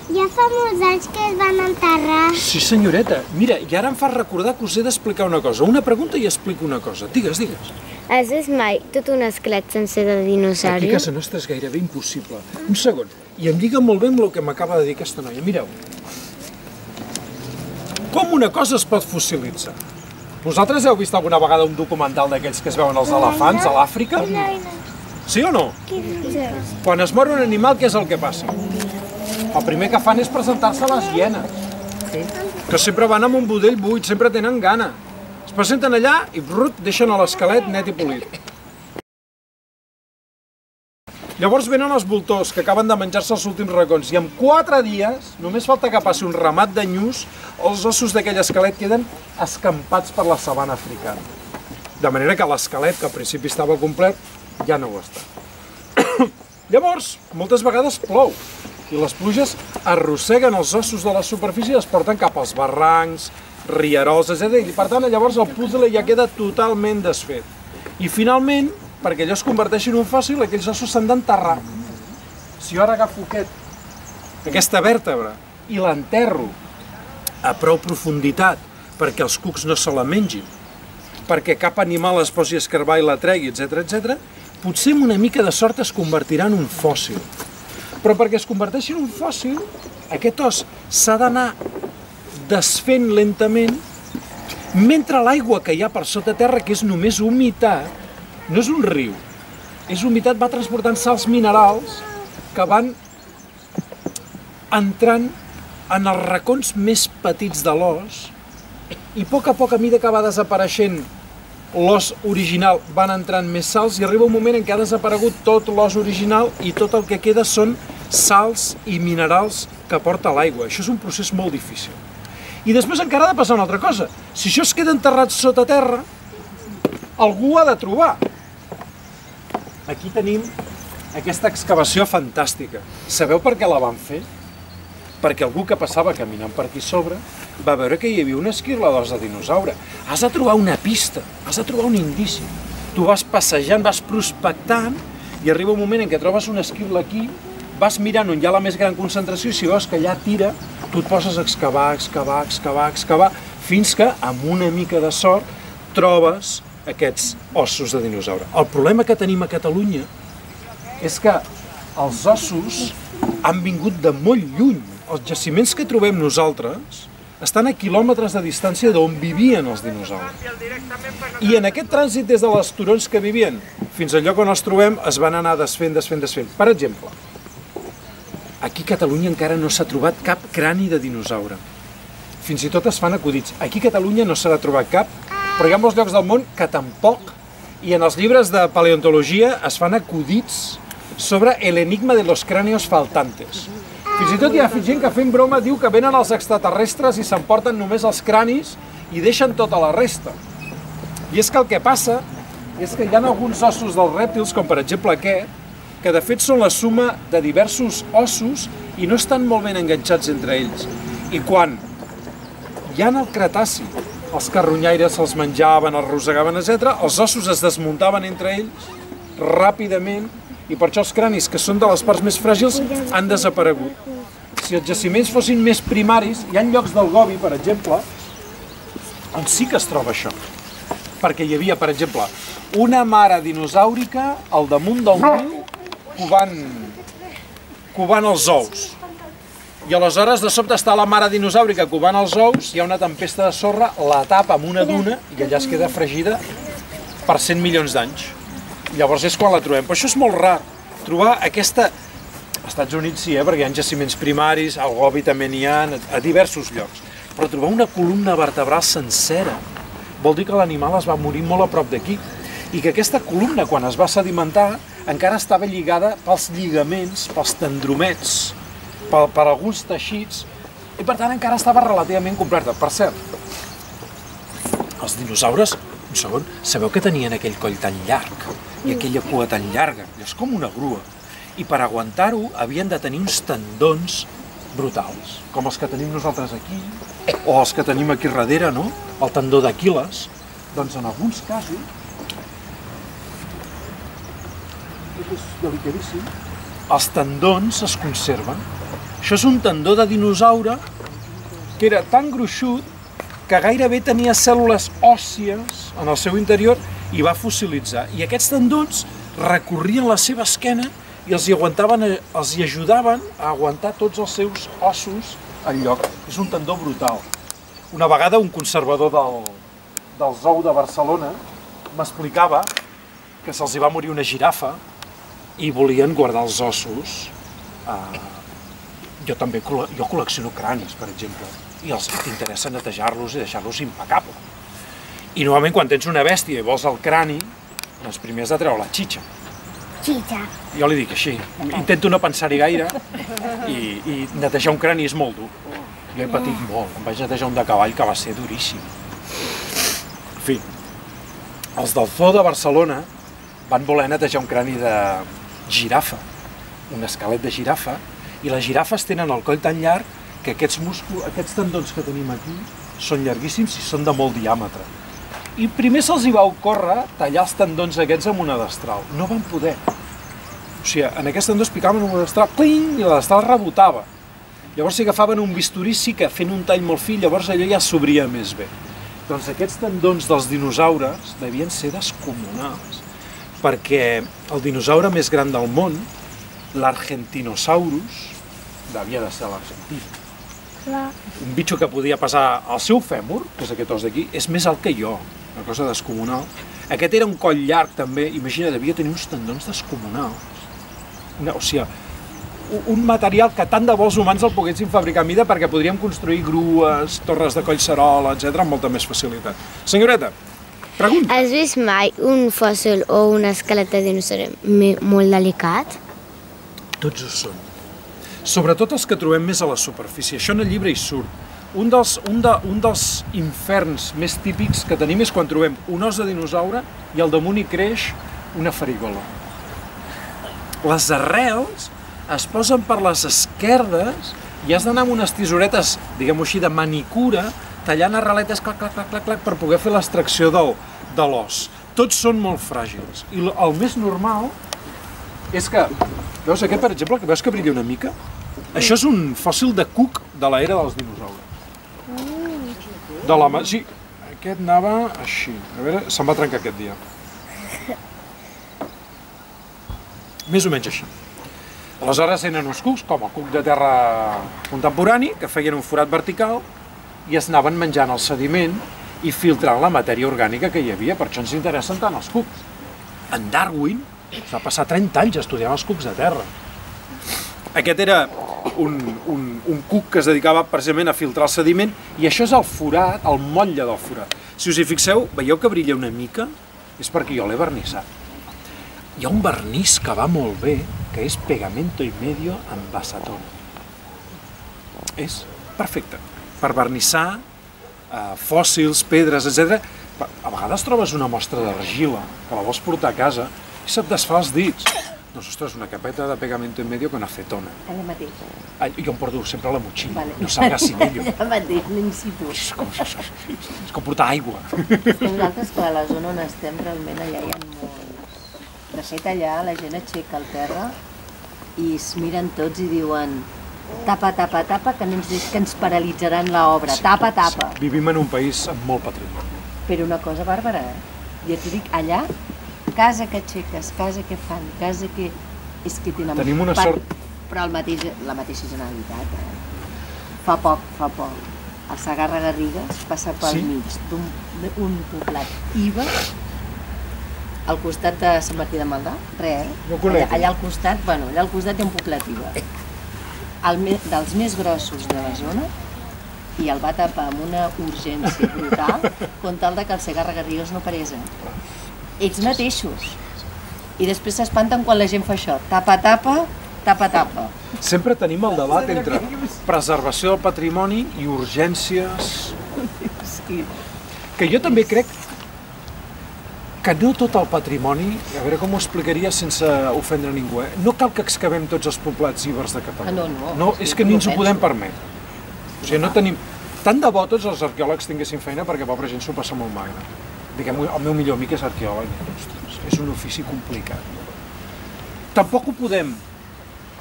ja fa molts anys que es van enterrar. Sí, senyoreta. Mira, i ara em fas recordar que us he d'explicar una cosa. Una pregunta i explico una cosa. Digues, digues. Has vist mai tot un esquelet sencer de dinosaure? Aquí a casa nostra és gairebé impossible. Un segon. I em lliga molt bé amb el que m'acaba de dir aquesta noia. Mireu. Com una cosa es pot fossilitzar? Vosaltres heu vist alguna vegada un documental d'aquells que es veuen els elefants a l'Àfrica? Sí o no? Quan es mor un animal, què és el que passa? El primer que fan és presentar-se a les hienes, que sempre van amb un budell buit, sempre tenen gana. Es presenten allà i deixen l'esquelet net i polit. Llavors venen els voltors, que acaben de menjar-se els últims racons, i en 4 dies, només falta que passi un ramat de nyus, els ossos d'aquell esquelet queden escampats per la sabana africana. De manera que l'esquelet, que al principi estava complet, ja no ho està. Llavors, moltes vegades plou, i les pluges arrosseguen els ossos de la superfície i els porten cap als barrancs, rierols, etc. I per tant, llavors el puzzle ja queda totalment desfet. I finalment, perquè allò es converteixi en un fòssil, aquells ossos s'han d'enterrar. Si jo ara agafo aquesta vèrtebra i l'enterro a prou profunditat perquè els cucs no se la mengin, perquè cap animal es posi a escarbar i la tregui, etc., potser amb una mica de sort es convertirà en un fòssil. Però perquè es converteixi en un fòssil, aquest os s'ha d'anar desfent lentament, mentre l'aigua que hi ha per sota terra, que és només humitat, no és un riu, és humitat, va transportant sals minerals que van entrant en els racons més petits de l'os i a poc, a mida que va desapareixent l'os original, van entrant més sals i arriba un moment en què ha desaparegut tot l'os original i tot el que queda són sals i minerals que porta l'aigua. Això és un procés molt difícil. I després encara ha de passar una altra cosa. Si això es queda enterrat sota terra, algú ho ha de trobar. Aquí tenim aquesta excavació fantàstica. Sabeu per què la van fer? Perquè algú que passava caminant per aquí sobre va veure que hi havia una esquirla d'os de dinosaure. Has de trobar una pista, has de trobar un indici. Tu vas passejant, vas prospectant i arriba un moment en què trobes una esquirla aquí, vas mirant on hi ha la més gran concentració i si veus que allà tira, tu et poses a excavar, fins que, amb una mica de sort, trobes aquests ossos de dinosaure. El problema que tenim a Catalunya és que els ossos han vingut de molt lluny. Els jaciments que trobem nosaltres estan a quilòmetres de distància d'on vivien els dinosaures. I en aquest trànsit des dels turons que vivien fins al lloc on els trobem es van anar desfent. Per exemple, aquí a Catalunya encara no s'ha trobat cap crani de dinosaure. Fins i tot es fan acudits. Aquí a Catalunya no s'ha trobat cap, però hi ha molts llocs del món que tampoc, i en els llibres de paleontologia es fan acudits sobre l'enigma de los cráneos faltantes. Fins i tot hi ha gent que fent broma diu que venen els extraterrestres i s'emporten només els cranis i deixen tota la resta. I és que el que passa és que hi ha alguns ossos dels rèptils, com per exemple aquest, que de fet són la suma de diversos ossos i no estan molt ben enganxats entre ells. I quan hi ha el Cretaci, els carronyaires se'ls menjaven, els rosegaven, etc., els ossos es desmuntaven entre ells ràpidament i per això els cranis, que són de les parts més fràgils, han desaparegut. Si els jaciments fossin més primaris, hi ha llocs del Gobi, per exemple, on sí que es troba això. Perquè hi havia, per exemple, una mare dinosàurica al damunt del riu covant els ous. I aleshores, de sobte, està la mare dinosaurica covant els ous, hi ha una tempesta de sorra, la tapa amb una duna i allà es queda fregida per 100 milions d'anys. Llavors és quan la trobem. Però això és molt rar, trobar aquesta... Als Estats Units sí, perquè hi ha jaciments primaris, al Gobi també n'hi ha, a diversos llocs. Però trobar una columna vertebral sencera vol dir que l'animal es va morir molt a prop d'aquí i que aquesta columna, quan es va sedimentar, encara estava lligada pels lligaments, pels tendromets, per alguns teixits, i per tant encara estava relativament completa. Per cert, els dinosaures, un segon, sabeu que tenien aquell coll tan llarg i aquella cua tan llarga? És com una grua. I per aguantar-ho havien de tenir uns tendons brutals, com els que tenim nosaltres aquí, o els que tenim aquí darrere, no? El tendó d'Aquil·les. Doncs en alguns casos, és delicadíssim, els tendons es conserven. Això és un tendó de dinosaure que era tan gruixut que gairebé tenia cèl·lules òssies en el seu interior i va fossilitzar. I aquests tendons recorrien la seva esquena i els hi ajudaven a aguantar tots els seus ossos al lloc. És un tendó brutal. Una vegada un conservador del zoo de Barcelona m'explicava que se'ls va morir una girafa i volien guardar els ossos. Jo col·lecciono cranis, per exemple, i els interessa netejar-los i deixar-los impecables. I normalment quan tens una bèstia i vols el crani, doncs primer has de treure la xitxa. Xitxa. Jo li dic així, intento no pensar-hi gaire i netejar un crani és molt dur. Jo he patit molt, em vaig netejar un de cavall que va ser duríssim. En fi, els del zoo de Barcelona van voler netejar un crani de girafa, un esquelet de girafa, i les girafes tenen el coll tan llarg que aquests tendons que tenim aquí són llarguíssims i són de molt diàmetre. I primer se'ls hi va ocórrer tallar els tendons aquests amb una destral. No van poder. O sigui, en aquest tendó es picaven amb una destral, cling, i la destral rebotava. Llavors si agafaven un bisturí sí que fent un tall molt fi, llavors allò ja s'obria més bé. Doncs aquests tendons dels dinosaures devien ser descomunals, perquè el dinosaure més gran del món, l'Argentinosaurus, devia de ser l'argentí. Un bitxo que podia pesar el seu fèmur, que és aquest os d'aquí, és més alt que jo, una cosa descomunal. Aquest era un coll llarg també, imagina, devia tenir uns tendons descomunals. O sigui, un material que tant de bo els humans el poguessin fabricar a mida perquè podríem construir grues, torres de collserola, etc., amb molta més facilitat. Senyoreta, pregunta. Has vist mai un fòssil o un esquelet de dinosaure molt delicat? Tots ho són. Sobretot els que trobem més a la superfície. Això en el llibre hi surt. Un dels inferns més típics que tenim és quan trobem un os de dinosaure i al damunt hi creix una farigola. Les arrels es posen per les esquerdes i has d'anar amb unes tisoretes, diguem-ho així, de manicura, tallant arreletes, clac, clac, clac, clac, clac, per poder fer l'extracció de l'os. Tots són molt fràgils. I el més normal és que, veus aquest, per exemple, que veus que brilla una mica? Això és un fòssil de cuc de l'era dels dinosaures. Sí, aquest anava així. A veure, se'n va trencar aquest dia. Més o menys així. Aleshores eren uns cucs, com el cuc de terra contemporani, que feien un forat vertical i es anaven menjant el sediment i filtrant la matèria orgànica que hi havia. Per això ens interessen tant els cucs. En Darwin va passar 30 anys estudiant els cucs de terra. Aquest era un cuc que es dedicava precisament a filtrar el sediment i això és el forat, el motlle del forat. Si us hi fixeu, veieu que brilla una mica? És perquè jo l'he vernissat. Hi ha un vernís que va molt bé, que és pegamento y medio amb acetona. És perfecte per vernissar fòssils, pedres, etc. A vegades trobes una mostra d'argila que la vols portar a casa i se't desfà els dits. Doncs, ostres, una capeta de pegamento en medio con acetona. Allà mateix. Jo em porto sempre a la motxilla, no salga sin ello. Allà mateix, no in situ. És com portar aigua. Nosaltres, que a la zona on estem, realment allà hi ha molts. De fet, allà la gent aixeca el terra i es miren tots i diuen tapa, tapa, tapa, que ens paralitzaran l'obra. Tapa, tapa. Vivim en un país amb molt patrimoni. Però una cosa bàrbara, Jo t'ho dic, allà, casa que aixeques, casa que fan, casa que... És que tenen... Tenim una sort... Però la mateixa Generalitat, Fa poc, el Segarra-Garrigues passa pel mig d'un poblat IVA al costat de Sant Martí de Maldà, real. Allà al costat, allà al costat hi ha un poblat IVA. Dels més grossos de la zona, i el va tapar amb una urgència brutal, com tal que el Segarra-Garrigues no parés. Ells mateixos. I després s'espanten quan la gent fa això. Tapa, tapa, tapa, tapa. Sempre tenim el debat entre preservació del patrimoni i urgències. Que jo també crec que no tot el patrimoni, a veure com ho explicaria sense ofendre ningú, no cal que excavem tots els poblats ibers de Catalunya. No, és que ni ens ho podem permetre. O sigui, no tenim... Tant de bo tots els arqueòlegs tinguessin feina perquè pobra gent s'ho passa molt magre. Diguem, el meu millor amic és arqueòleg. Ostres, és un ofici complicat. Tampoc ho podem,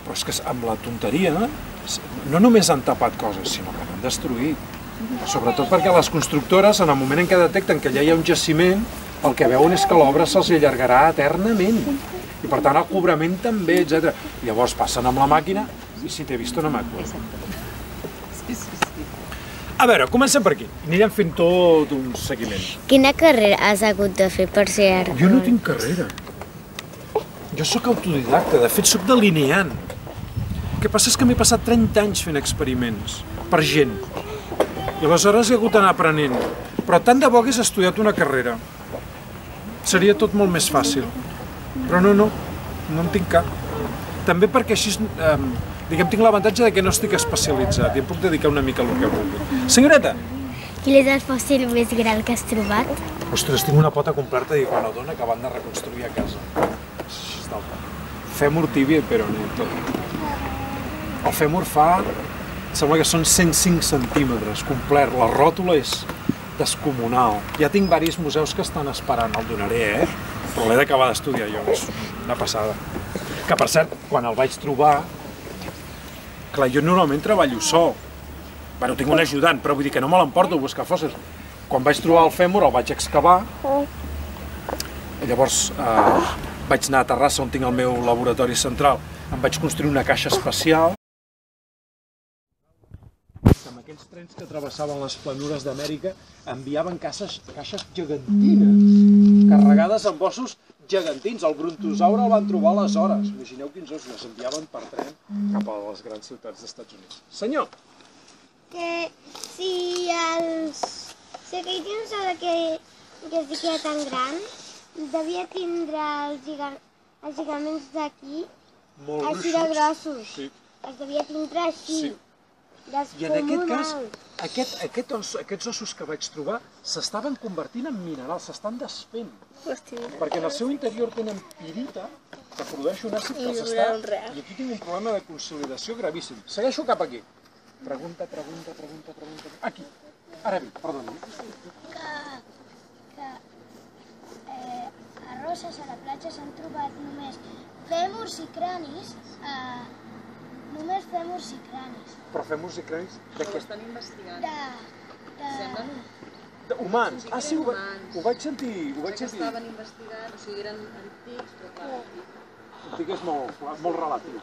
però és que amb la tonteria no només han tapat coses, sinó que n'han destruït. Sobretot perquè les constructores, en el moment en què detecten que allà hi ha un jaciment, el que veuen és que l'obra se'ls allargarà eternament. I per tant el cobrament també, etc. Llavors passen amb la màquina i si t'he vist no m'acuerdo. A veure, comencem per aquí. Anirem fent tot un seguiment. Quina carrera has hagut de fer per ser arqueòleg? Jo no tinc carrera. Jo sóc autodidacta, de fet sóc delineant. El que passa és que m'he passat 30 anys fent experiments per gent. I aleshores he hagut d'anar aprenent. Però tant de bo hagués estudiat una carrera. Seria tot molt més fàcil. Però no en tinc cap. També perquè així, diguem, tinc l'avantatge que no estic especialitzat i em puc dedicar una mica al que vulgui. Senyoreta! Quin és el fòssil més gran que has trobat? Ostres, tinc una pota completa d'iguanodona que van de reconstruir a casa. Fèmur, tíbia i peroné, tot. El fèmur fa... Sembla que són 105 centímetres, complet. La ròtula és descomunal. Ja tinc diversos museus que estan esperant, el donaré, però l'he d'acabar d'estudiar jo, és una passada. Que, per cert, quan el vaig trobar, clar, jo normalment treballo sol. Bueno, tinc un ajudant, però vull dir que no me l'emporto a buscar fòssils. Quan vaig trobar el fèmur, el vaig excavar, i llavors vaig anar a Terrassa, on tinc el meu laboratori central, em vaig construir una caixa especial. Amb aquells trens que travessaven les planures d'Amèrica enviaven caixes gegantines, carregades amb ossos gegantins. El brontosaure el van trobar aleshores. Imagineu quins ossos les enviaven per tren cap a les grans ciutats dels Estats Units. Senyor! Que si aquell dinosaure que es diria tan gran devia tindre els lligaments d'aquí així de grossos. Els devia tindre així. I en aquest cas, aquests ossos que vaig trobar s'estaven convertint en minerals, s'estan desfent. Perquè en el seu interior tenen pirita, que produeix un àcid que s'està... I aquí tinc un problema de consolidació gravíssim. Segueixo cap aquí. Pregunta. Aquí. Ara bé, perdona. Que a Roses, a la platja, s'han trobat només fèmurs i cranis, només fèmurs i cranis. Però fèmurs i cranis de què? Estan investigant. Semblen humans. Ah, sí, ho vaig sentir. Estaven investigant, o sigui, eren antics, però clar, antic és molt relatiu.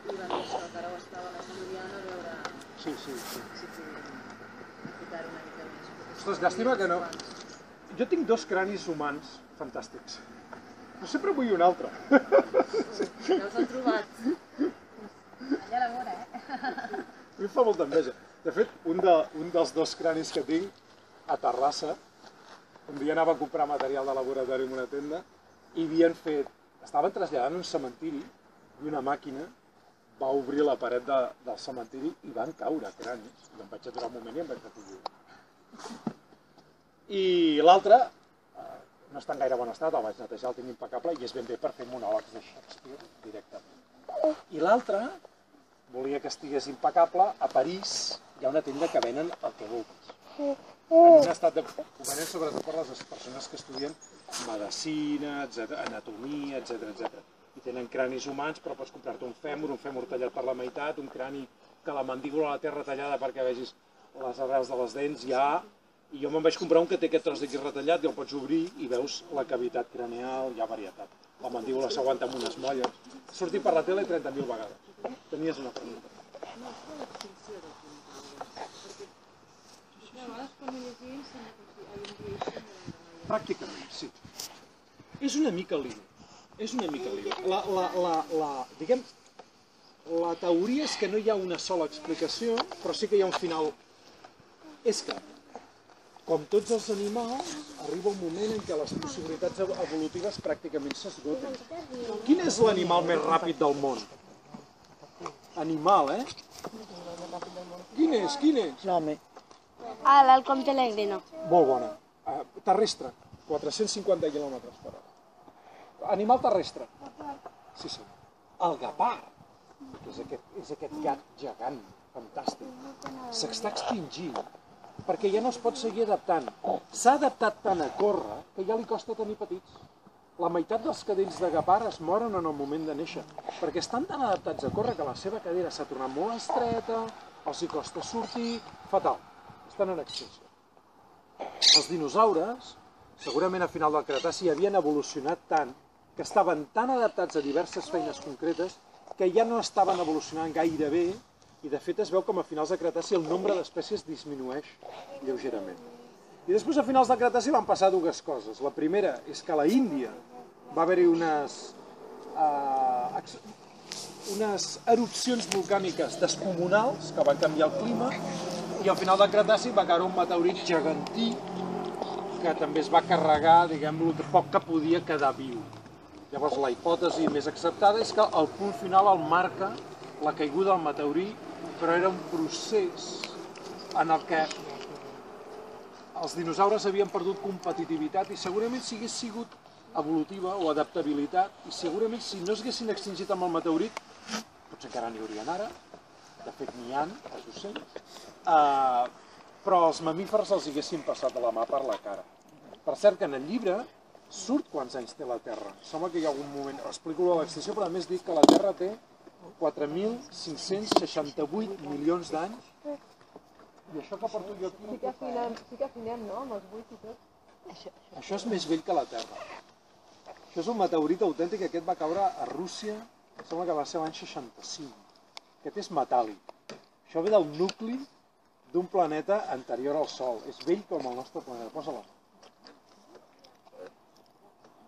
I van dir això, que ara ho estaven estudiant a veure... Sí. Si podien ficar-hi una mica més. Ostres, llàstima que no... Jo tinc 2 cranis humans fantàstics. Però sempre vull un altre. Ja els han trobat. Allà a la vora, A mi em fa molta enveja. De fet, un dels 2 cranis que tinc a Terrassa, un dia anava a comprar material de laboratori en una tenda i estaven traslladant un cementiri i una màquina va obrir la paret del cementiri i van caure cranis. I em vaig aturar un moment i em vaig recollir. I l'altre no està en gaire bon estat, el vaig netejar, el tinc impecable i és ben bé per fer monòlegs de Shakespeare directament. I l'altre volia que estigués impecable. A París hi ha una tenda que venen el que vulguis. En un estat de... Ho venen sobretot per les persones que estudien medicina, anatomia, etc. I tenen cranis humans, però pots comprar-te un fèmur tallat per la meitat, un crani que la mandíbula la té retallada perquè vegis les arrels de les dents, i jo me'n vaig comprar un que té aquest tros d'aquí retallat i el pots obrir i veus la cavitat craneal, hi ha varietat. La mandíbula s'aguanta amb unes molles. Ha sortit per la tele 30.000 vegades. Tenies una pregunta. Pràcticament, sí. És una mica lío. Diguem, la teoria és que no hi ha una sola explicació, però sí que hi ha un final. És que, com tots els animals, arriba un moment en què les possibilitats evolutives pràcticament s'esgoten. Quin és l'animal més ràpid del món? Animal, Quin és? L'home. L'halcón peregrino. Molt bona. Terrestre, 450 km/h. Animal terrestre. Sí. El guepard, que és aquest gat gegant, fantàstic, s'està extingint perquè ja no es pot seguir adaptant. S'ha adaptat tant a córrer que ja li costa tenir petits. La meitat dels cadells de guepard es moren en el moment de néixer, perquè estan tan adaptats a córrer que la seva cadera s'ha tornat molt estreta, els hi costa sortir, fatal. Estan en extinció. Els dinosaures, segurament a final del Cretaci, havien evolucionat tant que estaven tan adaptats a diverses feines concretes que ja no estaven evolucionant gaire bé i de fet es veu com a finals del Cretaci el nombre d'espècies disminueix lleugerament. I després a finals del Cretaci van passar dues coses. La primera és que a la Índia va haver-hi unes erupcions volcàniques descomunals que van canviar el clima i al final del Cretaci va caure un meteorit gegantí que també es va carregar, diguem, el poc que podia quedar viu. Llavors la hipòtesi més acceptada és que el punt final el marca la caiguda del meteorit, però era un procés en el que els dinosaures havien perdut competitivitat i segurament si hagués sigut evolutiva o adaptabilitat i segurament si no s'haguessin extingit amb el meteorit, potser encara n'hi haurien ara, de fet n'hi ha, els ocells, però els mamífers els haguessin passat a la mà per la cara. Per cert que en el llibre surt quants anys té la Terra. Sembla que hi ha algun moment, explico l'extinció, però a més dic que la Terra té 4.568 milions d'anys. I això que porto jo aquí... Sí que afinem, no?, amb els buits i tot. Això és més vell que la Terra. Això és un meteorit autèntic, aquest va caure a Rússia, sembla que va ser l'any 65. Aquest és metàl·lic. Això ve del nucli d'un planeta anterior al Sol. És vell com el nostre planeta. Posa-la.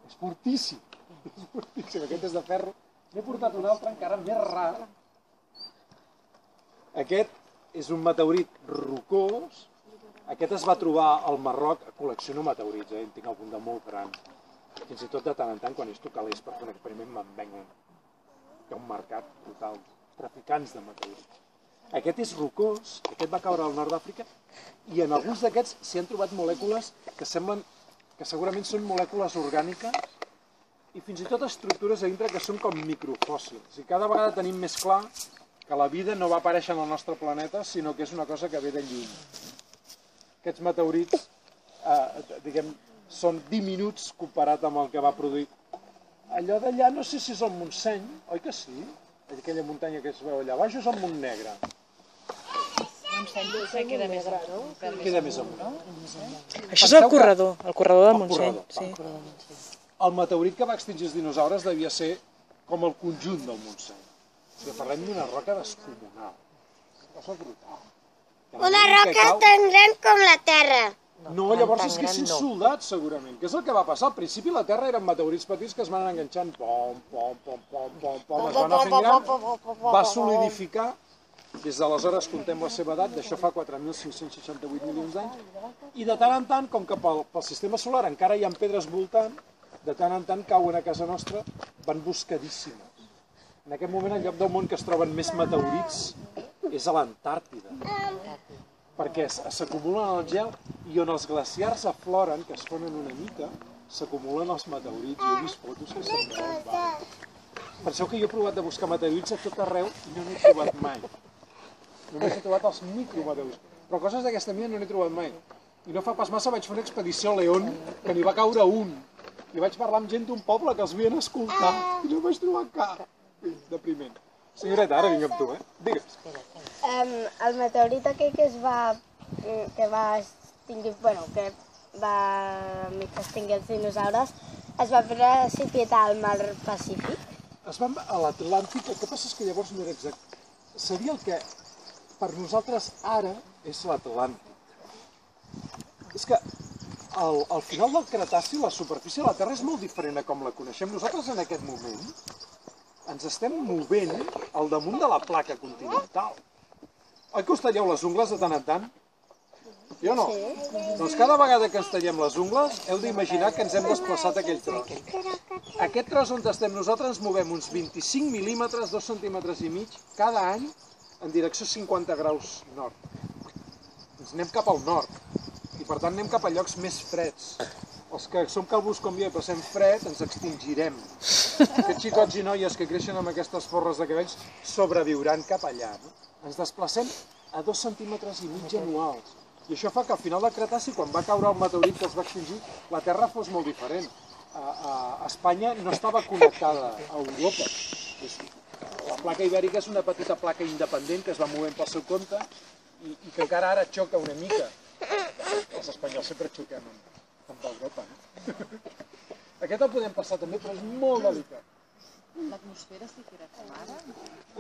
És fortíssim. És fortíssim. Aquest és de ferro. N'he portat un altre encara més rar. Aquest és un meteorit rocós. Aquest es va trobar al Marroc. Col·lecciono meteorits, en tinc algun de molt gran. Fins i tot de tant en tant, quan és calés per fer un experiment, me'n vengen. Hi ha un mercat total. Traficants de meteorits. Aquest és rocós, aquest va caure al nord d'Àfrica, i en alguns d'aquests s'hi han trobat molècules que semblen que segurament són molècules orgàniques i fins i tot estructures a dintre que són com microfòssils. I cada vegada tenim més clar que la vida no va aparèixer en el nostre planeta, sinó que és una cosa que ve de lluny. Aquests meteorits, diguem, són diminuts comparat amb el que va produir. Allò d'allà, no sé si és el Montseny, oi que sí? Aquella muntanya que es veu allà baix és el Montnegre. Montseny queda més amunt. Queda més amunt. Això és el corredor del Montseny. El meteorit que va extingir els dinosaures devia ser com el conjunt del Montseny. Parlem d'una roca descomunal. Cosa brutal. Una roca tan gran com la Terra. No, llavors és que s'ha soldat, segurament. Que és el que va passar? Al principi la Terra eren meteorits petits que es van anar enganxant. Pom, pom, pom, pom, pom, pom. Es van anar fent gran. Va solidificar. Des d'aleshores contem la seva edat. D'això fa 4.568 milions d'anys. I de tant en tant, com que pel sistema solar encara hi ha pedres voltant, de tant en tant cauen a casa nostra, van buscadíssimes. En aquest moment, el lloc del món que es troben més meteorits és a l'Antàrtida. Perquè s'acumulen al gel i on els glaciars afloren, que es fonen una mica, s'acumulen els meteorits. Jo he vist fotos que se'n veuen. Penseu que jo he provat de buscar meteorits a tot arreu i no n'he trobat mai. Només he trobat els micrometeorits. Però coses d'aquesta mida no n'he trobat mai. I no fa pas massa vaig fer una expedició a León, que n'hi va caure un. I vaig parlar amb gent d'un poble que els havien escoltat i no vaig trobar cap. Depriment. Senyoreta, ara vinc amb tu, Digues. El meteorit aquell que va extingir els dinosaures es va precipitar al mar Pacífic. Es va a l'Atlàntic, el que passa és que llavors no era exacte. Seria el que per nosaltres ara és l'Atlàntic. És que al final del Cretaci la superfície de la Terra és molt diferent a com la coneixem. Nosaltres en aquest moment ens estem movent al damunt de la placa continental. Oi que us talleu les ungles de tant en tant? Jo no. Doncs cada vegada que ens tallem les ungles heu d'imaginar que ens hem desplaçat aquell tros. Aquest tros on estem nosaltres ens movem uns 25 mil·límetres, 2 centímetres i mig, cada any en direcció 50 graus nord. Ens anem cap al nord i per tant anem cap a llocs més freds. Els que som calvos com jo i passem fred ens extingirem. Aquests xicots i noies que creixen amb aquestes forres de cabells sobreviuran cap allà. Ens desplacem a 2 centímetres i mig anuals. I això fa que al final del Cretaci, quan va caure el meteorit que els va extingir, la Terra fos molt diferent. Espanya no estava connectada a Europa. La placa ibèrica és una petita placa independent que es va movent pel seu compte i que encara ara xoca una mica. Els espanyols sempre xoquem amb Europa. Aquest el podem passar també, però és molt delicat. L'atmosfera sí que era com ara?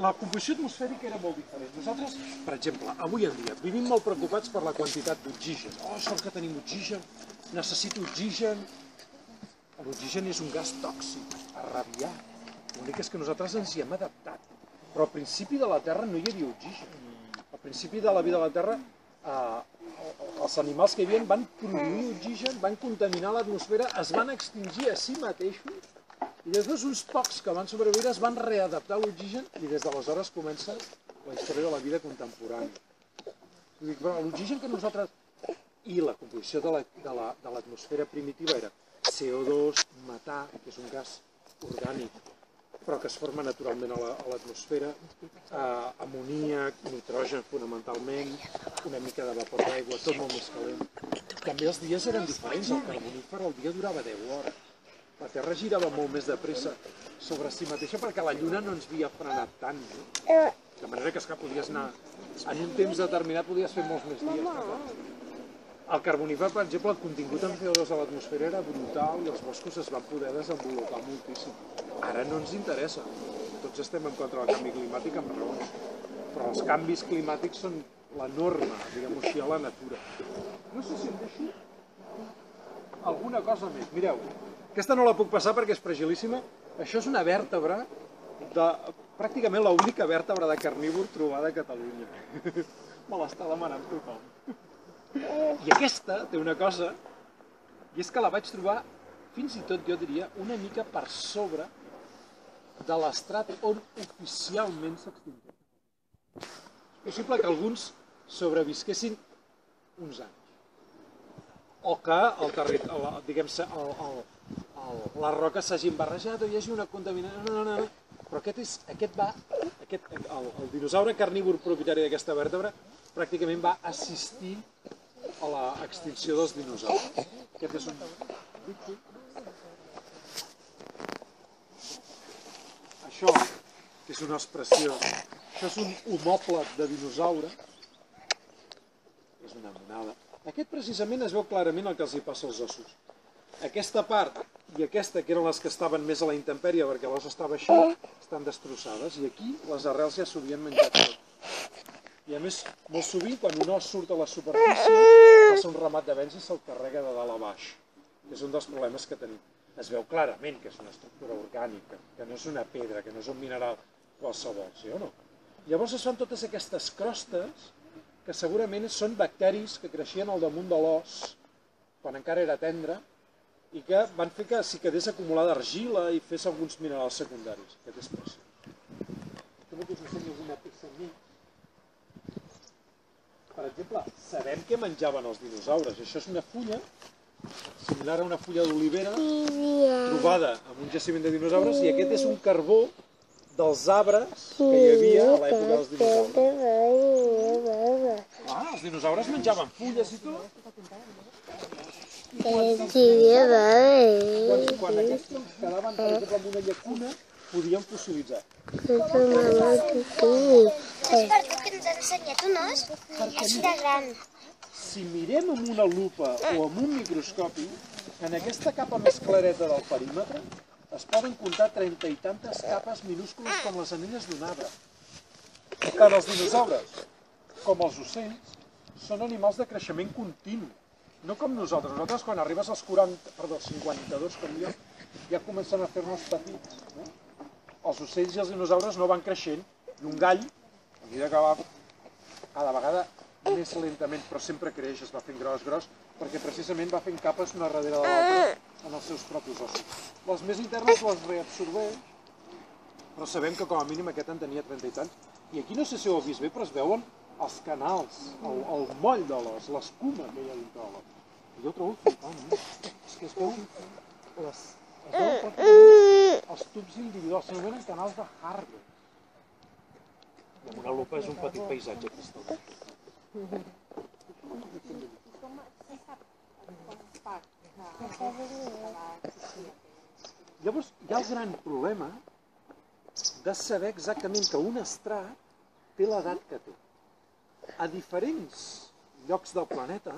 La composició atmosfèrica era molt diferent. Nosaltres, per exemple, avui en dia, vivim molt preocupats per la quantitat d'oxigen. Sort que tenim oxigen, necessito oxigen. L'oxigen és un gas tòxic, arrabiat. L'únic és que nosaltres ens hi hem adaptat. Però al principi de la Terra no hi havia oxigen. Al principi de la vida de la Terra, els animals que hi havia van produir oxigen, van contaminar l'atmosfera, es van extingir a si mateixos i després uns pocs que van sobreviure es van readaptar a l'oxigen i des d'aleshores comença la història de la vida contemporània. L'oxigen que nosaltres... I la composició de l'atmosfera primitiva era CO2, metà, que és un gas orgànic però que es forma naturalment a l'atmosfera, amoníac, nitrogen fonamentalment, una mica de vapor d'aigua, tot molt més calent. També els dies eren diferents, el carbonífer el dia durava 10 hores. La Terra girava molt més de pressa sobre si mateixa perquè la Lluna no ens havia frenat tant. De manera que podies anar, en un temps determinat podies fer molts més dies. El carbonífer, per exemple, el contingut en CO2 a l'atmosfera era brutal i els boscos es van poder desenvolupar moltíssim. Ara no ens interessa. Tots estem en contra del canvi climàtic amb raons, però els canvis climàtics són la norma, diguem-ho així, a la natura. No sé si em deixo alguna cosa més. Mireu, aquesta no la puc passar perquè és fragilíssima. Això és una vèrtebra, pràcticament l'única vèrtebra de carnívor trobada a Catalunya. Me l'està demanant tothom. I aquesta té una cosa, i és que la vaig trobar, fins i tot jo diria, una mica per sobre de l'estrat on oficialment s'extingeix. És possible que alguns sobrevisquessin uns anys. O que les roques s'hagin barrejat o hi hagi una contaminació. No. Però el dinosaure carnívor propietari d'aquesta vèrtebra pràcticament va assistir a l'extinció dels dinosaures. Aquest és un... Això, que és un os preciós, això és un homòplat de dinosaure, és una monada. Aquest precisament es veu clarament el que els hi passa als ossos. Aquesta part i aquesta, que eren les que estaven més a la intempèrie perquè l'os estava així, estan destrossades i aquí les arrels ja s'ho havien menjat tot. I a més, molt sovint, quan un os surt a la superfície, passa un ramat de vents i se'l carrega de dalt a baix. És un dels problemes que tenim. Es veu clarament que és una estructura orgànica, que no és una pedra, que no és un mineral qualsevol, sí o no? Llavors es fan totes aquestes crostes que segurament són bacteris que creixien al damunt de l'os quan encara era tendre i que van fer que s'hi quedés acumulada argila i fes alguns minerals secundaris. Aquest és preciós. També us ensenyo alguna peça més. Per exemple, sabem què menjaven els dinosaures. Això és una fulla, similar a una fulla d'olivera, trobada en un jaciment de dinosaures, i aquest és un carbó dels arbres que hi havia a l'època dels dinosaures. Els dinosaures menjaven fulles i tot. Quan aquests troncs quedaven, per exemple, en una llacuna, podien fossilitzar. És per tu que ens ha ensenyat un os així de gran. Si mirem amb una lupa o amb un microscopi, en aquesta capa més clareta del perímetre es poden comptar 30 i tantes capes minúscules com les anelles d'un arbre. Tant els dinosaures com els ocells són animals de creixement continu. No com nosaltres. Nosaltres, quan arribes als 52 com jo, ja comencen a fer-nos petits. Els ocells i els dinosaures no van creixent, i un gall, a mesura que va cada vegada més lentament, però sempre creix, es va fent gros, perquè precisament va fent capes una darrere de l'altra en els seus propis ossos. Les més internes les reabsorbeix, però sabem que com a mínim aquest en tenia 30 i tants. I aquí no sé si ho heu vist bé, però es veuen els canals, el moll de l'os, l'escuma que hi ha dintre de l'os. Jo ho trobo flipant, és que es veuen els tubs individuals, s'anomenen canals de Harvey. I amb una lupa és un petit paisatge cristal·lí. Llavors hi ha el gran problema de saber exactament que un estrat té l'edat que té. A diferents llocs del planeta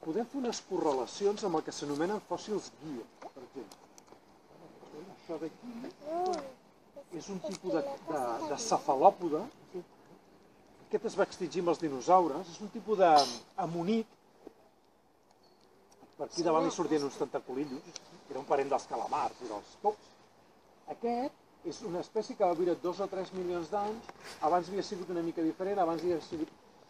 podem fer unes correlacions amb el que s'anomenen fòssils guia, per exemple. Això d'aquí és un tipus de cefalòpode. Aquest es va extingir amb els dinosaures. És un tipus d'amonit. Per aquí davant li sortien uns tentaculillos, que era un parent dels calamars i dels pops. Aquest és una espècie que va viure 2 o 3 milions d'anys, abans havia sigut una mica diferent,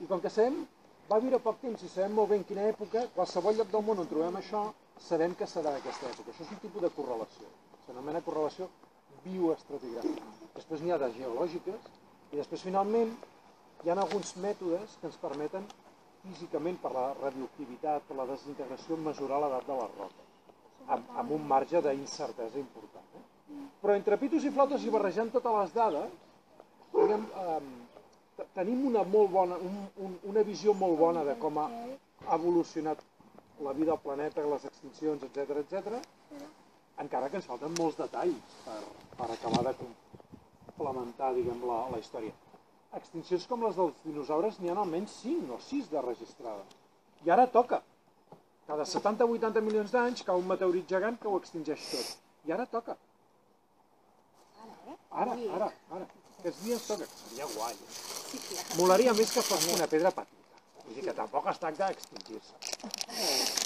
I com que sabem, va viure poc temps i sabem molt bé en quina època, qualsevol lloc del món on trobem això, sabem que serà d'aquesta època. Això és un tipus de correlació, s'anomena correlació bioestratigràfica. Després n'hi ha de geològiques, i després finalment hi ha alguns mètodes que ens permeten físicament, per la radioactivitat, per la desintegració, mesurar l'edat de les roques, amb un marge d'incertesa important. Però entre pitos i flautes i barrejant totes les dades, tenim una visió molt bona de com ha evolucionat la vida al planeta, les extincions, etc., encara que ens falten molts detalls per acabar de complementar, diguem, la història. Extincions com les dels dinosaures n'hi ha almenys 5 o 6 de registrades. I ara toca. Cada 70 o 80 milions d'anys cau un meteorit gegant que ho extingeix tot. I ara toca. Ara. Aquests dies toca. Seria guai. Molaria més que fos una pedra petita. Vull dir que tampoc es tracta d'extingir-se.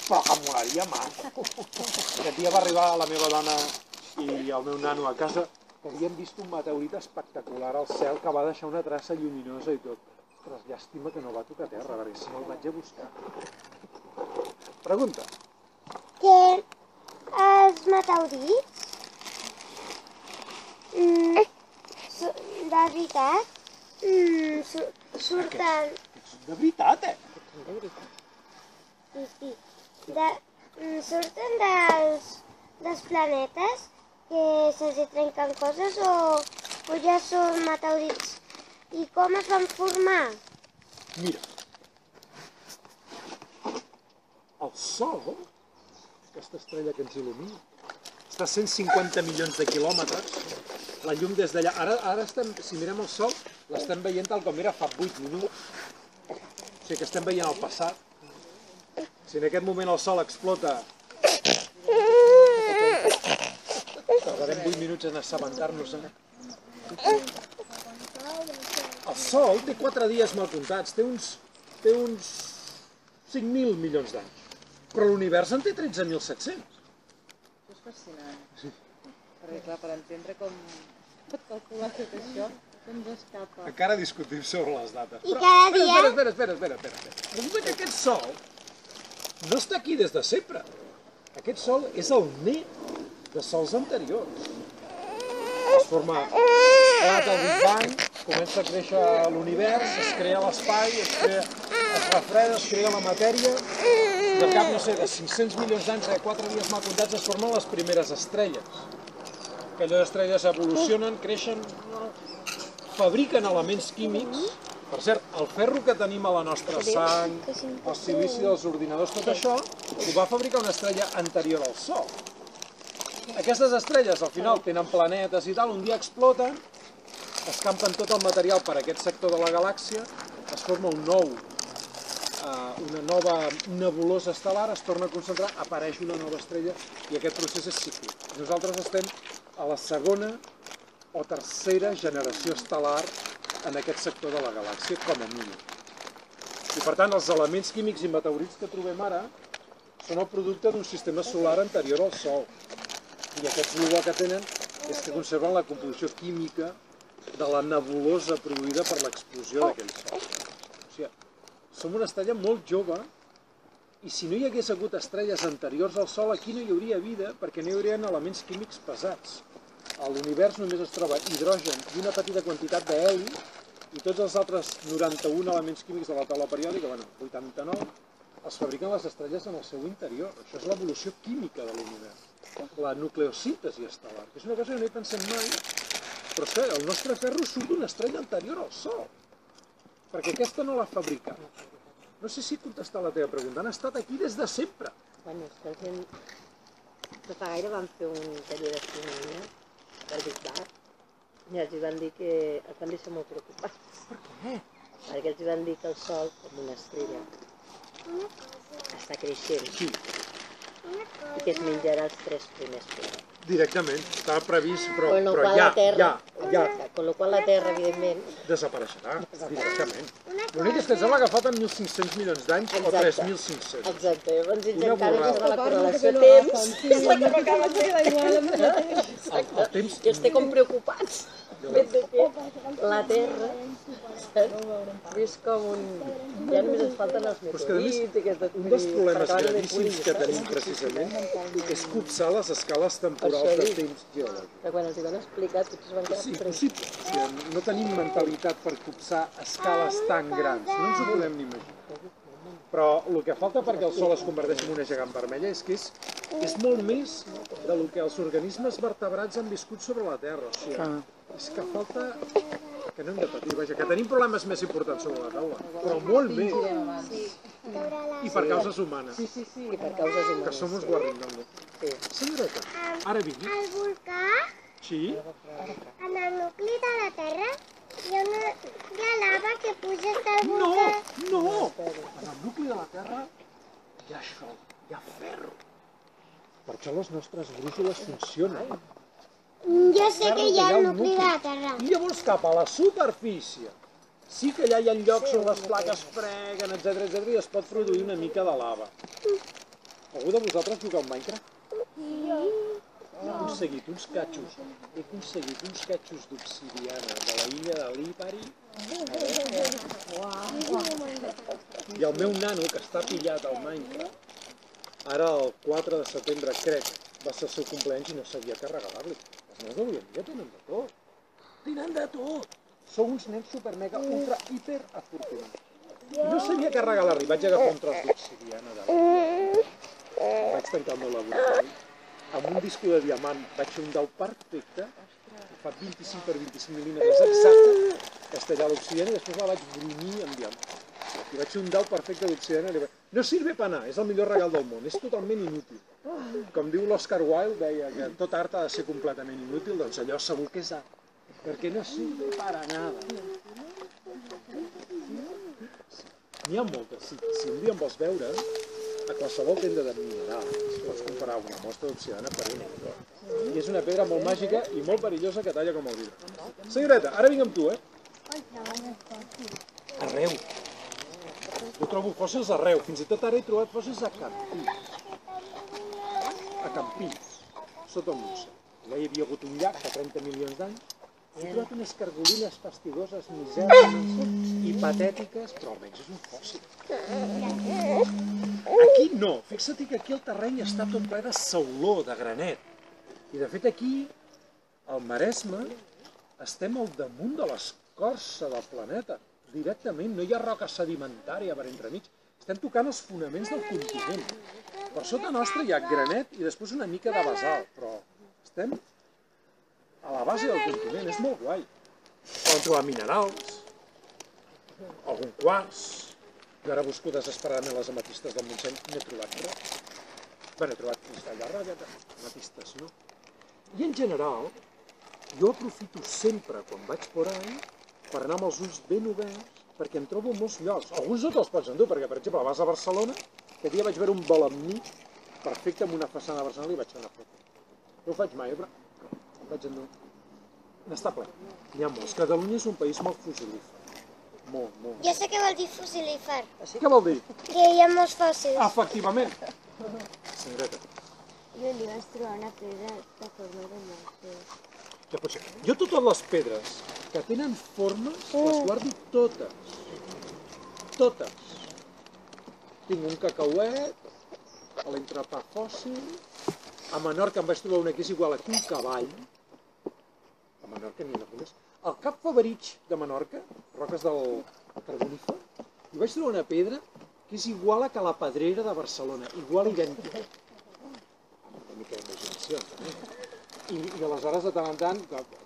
Però que molaria més. Aquest dia va arribar la meva dona i el meu nano a casa que havien vist un meteorit espectacular al cel que va deixar una traça lluminosa i tot. Ostres, llàstima que no va tocar terra, perquè si no el vaig a buscar. Pregunta. Que els meteorits, de veritat, surten... De veritat, eh? Sí. Surten dels planetes que se'ls trenquen coses o ja són meteorits? I com es van formar? Mira, el Sol, aquesta estrella que ens il·lumina, està a 150 milions de quilòmetres, la llum des d'allà. Ara estem, si mirem el Sol, l'estem veient tal com era fa 8 minuts, o sigui que estem veient el passat. Si en aquest moment el Sol explota, tardarem 8 minuts en assabentar-nos-en. El Sol té 4 dies mal comptats, té uns 5.000 milions d'anys, però l'univers en té 13.700. Això és fascinant. Sí. Perquè, clar, per entendre com pot calcular tot això, ens escapa. Encara discutim sobre les dates. I cada dia... Espera. Resulta que aquest Sol no està aquí des de sempre. Aquest Sol és el net de sols anteriors. Es forma el Big Bang, comença a créixer l'univers, es crea l'espai, es refreda, es crea la matèria, i al cap, no sé, de 500 milions d'anys, de 4 dies mal comptats, es formen les primeres estrelles. Aquelles estrelles evolucionen, creixen, fabriquen elements químics. Per cert, el ferro que tenim a la nostra sang, el silici dels ordinadors, tot això, ho va fabricar una estrella anterior al Sol. Aquestes estrelles, al final, tenen planetes i tal, un dia exploten, escampen tot el material per aquest sector de la galàxia, es forma una nova nebulosa estel·lar, es torna a concentrar, apareix una nova estrella i aquest procés és cíclic. Nosaltres estem a la segona o tercera generació estel·lar en aquest sector de la galàxia, com a mínim. I per tant, els elements químics i meteorits que trobem ara són el producte d'un sistema solar anterior al Sol. I aquests el que tenen és que conserven la composició química de la nebulosa produïda per l'explosió d'aquell Sol. O sigui, som una estrella molt jove i si no hi hagués hagut estrelles anteriors al Sol, aquí no hi hauria vida perquè no hi haurien elements químics pesats. A l'univers només es troba hidrogen i una petita quantitat d'heli i tots els altres 91 elements químics de la taula periòdica, bueno, 89, els fabriquen les estrelles en el seu interior. Això és l'evolució química de l'univers. La nucleosíntesi estel·lar, que és una cosa que no hi pensem mai, però és que el nostre ferro surt d'una estrella anterior al Sol, perquè aquesta no l'ha fabricat. No sé si contestar la teva pregunta, han estat aquí des de sempre. Bueno, és que la gent no fa gaire van fer un taller d'astronomia del Big Bang i els van dir que els van deixar molt preocupats. Per què? Perquè els van dir que el Sol, com una estrella, està creixent. Sí. I que es menjarà els 3 primers planets. Directament, estava previst, però Con lo cual la Terra, evidentment, desapareixerà, directament. L'únic és que ens sembla que falten 1.500 milions d'anys o 3.500. Exacte, llavors ells Una encara borrada. tenen la correlació de temps, que és la que m'acaba de dir. El temps... I els té com preocupats. El fet de que la Terra és com un... Ja només ens falten els meteorits. Un dels problemes gravíssims que tenim precisament és copsar les escales temporals de temps geològic. Que quan els hi van explicar tots es van quedar... És impossible. No tenim mentalitat per copsar escales tan grans. No ens ho podem ni imaginar. Però el que falta perquè el Sol es converteixi en una gegant vermella és que és molt més del que els organismes vertebrats han viscut sobre la Terra. O sigui, és que falta que no hem de patir, vaja, que tenim problemes més importants sobre la taula, però molt bé. I per causes humanes. Sí, i per causes humanes. Que som uns guarrindones. Senyoreta, ara vingui. Al volcà, Sí? en el nucli de la Terra, hi ha lava que puja del No, volcà. no! En el nucli de la Terra hi ha això, hi ha ferro. Per això les nostres brúixoles funcionen. Jo sé que hi ha el nucli de la Terra. I llavors cap a la superfície. Sí que allà hi ha llocs on les plaques freguen, etc i es pot produir una mica de lava. Algú de vosaltres juga al Minecraft? He aconseguit uns catxos d'obsidiana de la illa de Lipari. I el meu nano, que està pillat al Minecraft, ara el 4 de setembre, crec, va ser el seu cumpleaños i no sabia què regalar-li. Els nens d'avui en dia tenen de tot. Tenen de tot. Sou uns nens super, mega, ultra, hiper afortunats. I no sabia què regalar-li. Vaig agafar un tros d'obsidiana de vaig tancar el meu laboratori. Amb un disco de diamant vaig fer un dau perfecte, fa 25 per 25 mil·límetres exacte, castellar l'obsidiana i després la vaig brunyir amb diamant. I vaig fer un dau perfecte d'obsidiana. No sirve per anar, és el millor regal del món, és totalment inútil. Com diu l'Oscar Wilde, deia que tot art ha de ser completament inútil, doncs allò segur que és art, perquè no sirve para nada. N'hi ha moltes, si un dia em vols veure, a qualsevol tenda de minerals pots comprar una mostra d'obsidiana per €1. I és una pedra molt màgica i molt perillosa que talla com el vidre. Senyoreta, ara vinc amb tu, Arreu. Jo trobo fòssils arreu, fins i tot ara he trobat fòssils a Campins. A Campins, sota el Montsec. Allà hi havia hagut un llac fa 30 milions d'anys. He trobat unes cargolines fastidoses, misèries i patètiques, però almenys és un fòssil. Aquí no, fixa't que aquí el terreny està tot ple de sauló, de granet. I de fet aquí, al Maresme, estem al damunt de l'escorça del planeta. Directament, no hi ha roca sedimentària per entremig. Estem tocant els fonaments del continent. Per sota nostra hi ha granet i després una mica de basalt, però estem a la base del continent, és molt guai. Poden trobar minerals, algun quars. Jo ara busco desesperadament les ametistes del Montseny, no he trobat res. Bé, he trobat cristall de ratlla, ametistes no. I en general, jo aprofito sempre, quan vaig por ahí, per anar amb els ulls ben oberts, perquè em trobo molts llocs. Alguns no te'ls pots endur, perquè, per exemple, vas a Barcelona, aquest dia vaig veure un balamní perfecte amb una façana de Barcelona i vaig fer una foto. No ho faig mai, però vaig endur. N'està ple. N'hi ha molts. Catalunya és un país molt fossilífer. Molt. Jo sé què vol dir fossilífer. Què vol dir? Que hi ha molts fòssils. Efectivament. Senyoreta. Jo li vaig trobar una pedra de forma de morter. Ja pot ser. Jo totes les pedres que tenen formes les guardo totes. Totes. Tinc un cacauet, a l'entrepà fòssil, a Menorca em vaig trobar una que és igual a un cavall. A Menorca n'hi ha algunes. Al Cap Favarig de Menorca, roques del Carbonífer, hi vaig trobar una pedra que és igual a la Pedrera de Barcelona, igual idèntica. Una mica d'imaginació, també. I aleshores, de tant en tant,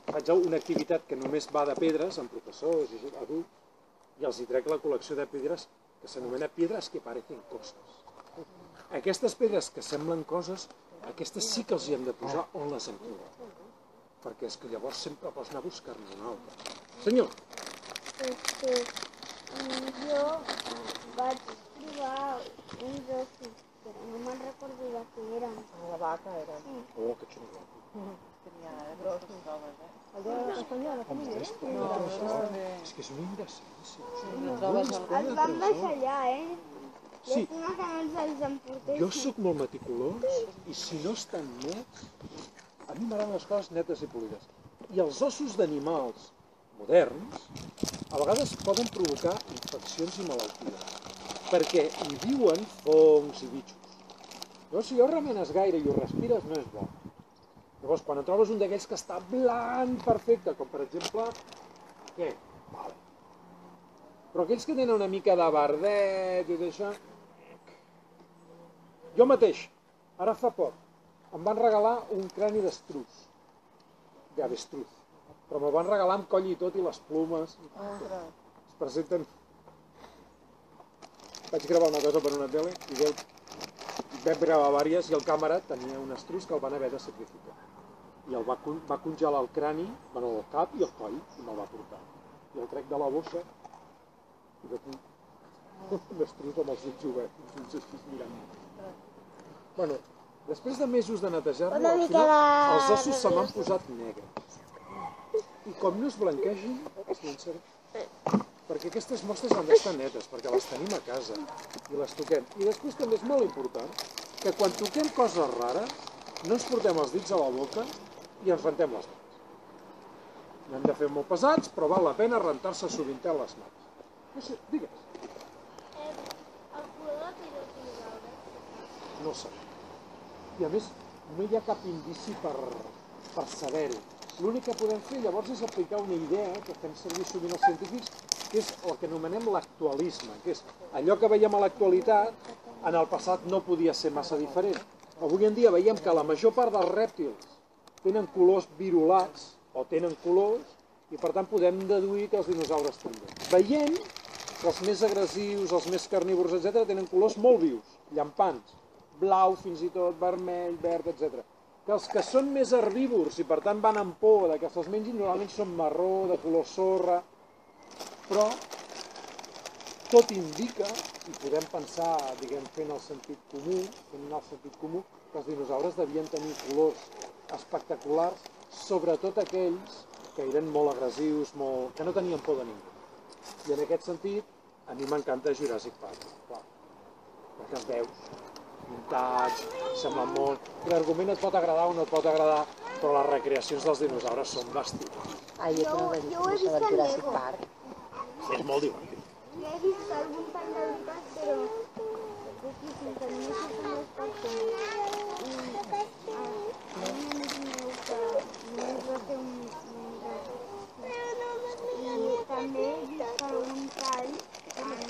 faig una activitat que només va de pedres, amb professors i adults, i els hi trec la col·lecció de pedres que s'anomena piedras que parecen coses. Aquestes pedres que semblen coses, aquestes sí que els hi hem de posar on les hem trobat. Perquè és que llavors sempre pots anar a buscar-ne una altra. Senyor. Jo vaig trobar uns ossos, però no me'n recordo de què eren. La vaca era. Oh, que xulo. Tenia grossos homes, És que és una indecència. Els van deixar allà, Sí. Llàstima que no els emportessin. Jo sóc molt meticulós i si no estan nets, a mi m'agraden les coses netes i polides. I els ossos d'animals moderns a vegades poden provocar infeccions i malalties, perquè hi viuen fongs i bitxos. Llavors, si ho remenes gaire i ho respires, no és bo. Llavors, quan et trobes un d'aquells que està blanc perfecte, com per exemple, què? Vale. Però aquells que tenen una mica de verdet i d'això... Jo mateix, ara fa poc, em van regalar un crani d'estruç, d'avestruz, però me'l van regalar amb coll i tot i les plomes. Es presenten... Vaig gravar una cosa per una tele i vam gravar diverses i el càmera tenia un estruç que el van haver de sacrificar. I el va congelar el crani, el cap i el coll, i me'l va portar. I el trec de la bossa i veig un estruç amb els ulls oberts, uns així mirant. Bueno, després de mesos de netejar-lo, al final els ossos se m'han posat negres. I com no es blanquegin, es llançaré. Perquè aquestes mostres han d'estar netes, perquè les tenim a casa i les toquem. I després també és molt important que quan toquem coses rares no ens portem els dits a la boca i ens rentem les mans. No hem de fer molt pesats, però val la pena rentar-se sovintet les mans. No sé, digues. El color de pirotinosaures? No sé. I a més, no hi ha cap indici per saber-ho. L'únic que podem fer llavors és aplicar una idea que fem servir sovint els científics, que és el que anomenem l'actualisme, que és allò que veiem a l'actualitat, en el passat no podia ser massa diferent. Avui en dia veiem que la major part dels rèptils tenen colors virolats, o tenen colors, i per tant podem deduir que els dinosaures també. Veiem que els més agressius, els més carnívors, etc., tenen colors molt vius, llampants, blau fins i tot, vermell, verd, etc. Que els que són més herbívors i per tant van amb por que se'ls mengin, normalment són marró, de color sorra, però tot indica, i podem pensar, diguem, fent el sentit comú, que els dinosaures devien tenir colors espectaculars, sobretot aquells que eren molt agressius, que no tenien por de ningú. I en aquest sentit, a mi m'encanta Jurassic Park, clar, perquè els veus muntats, semblen molt... L'argument et pot agradar o no et pot agradar, però les recreacions dels dinosaures són bestials. Jo ho he vist al Jurassic Park. És molt divertit. Jo he vist algun tant de veritat, però poquíssim, que només he fet les persones. I un amic meu que només va fer un i també he vist algun tall en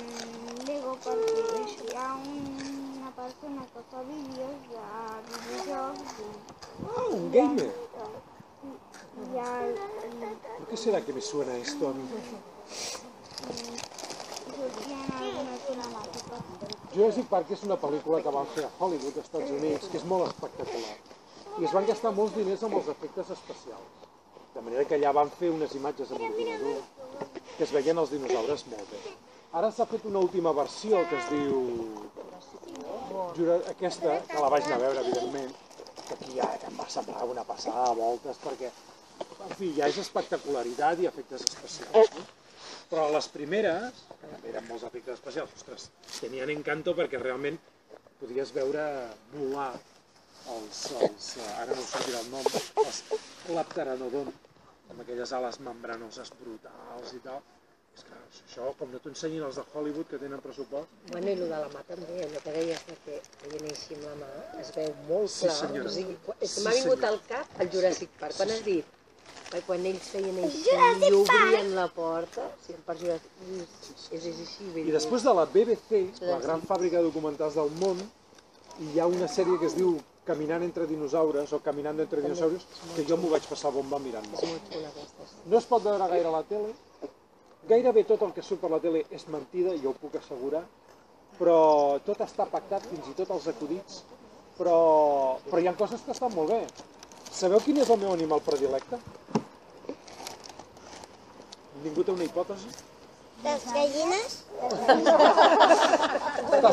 Lego, perquè hi ha una persona que fa vídeos de videojocs Un gamer. y al ¿Por qué será que me suena esto a mí? sortien algunes cinemàtiques. Jurassic Park és una pel·lícula que van fer a Hollywood, als Estats Units, que és molt espectacular. I es van gastar molts diners amb els efectes especials. De manera que allà van fer unes imatges amb ordinador que es veien els dinosaures molt bé. Ara s'ha fet una última versió que es diu... Aquesta, que la vaig anar a veure, evidentment, que aquí ja em va semblar una passada de voltes, perquè, en fi, ja és espectacularitat i efectes especials. No? Però les primeres, que també eren molts efectes especials, ostres, tenien encanto perquè realment podies veure volar ara no em sortirà el nom, els Lapteranodon, amb aquelles ales membranoses brutals i tal. És que això, com no t'ho ensenyin els de Hollywood, que tenen pressupost... Bueno, i el de la mà també, allò que deies que feien així amb la mà, es veu molt clar. Sí, senyora. O sigui, és que m'ha vingut al cap el Jurassic Park. Quan has dit? Quan ells feien així i obrien la porta, per Jurassic és així. I després de la BBC, la gran fàbrica de documentals del món, hi ha una sèrie que es diu Caminant entre dinosaures o Caminando entre dinosaurios, que jo m'ho vaig passar bomba mirant molt. No es pot veure gaire a la tele, gairebé tot el que surt per la tele és mentida, jo ho puc assegurar, però tot està pactat, fins i tot els acudits, però hi ha coses que estan molt bé. Sabeu quin és el meu animal predilecte? Ningú té una hipòtesi? Les gallines?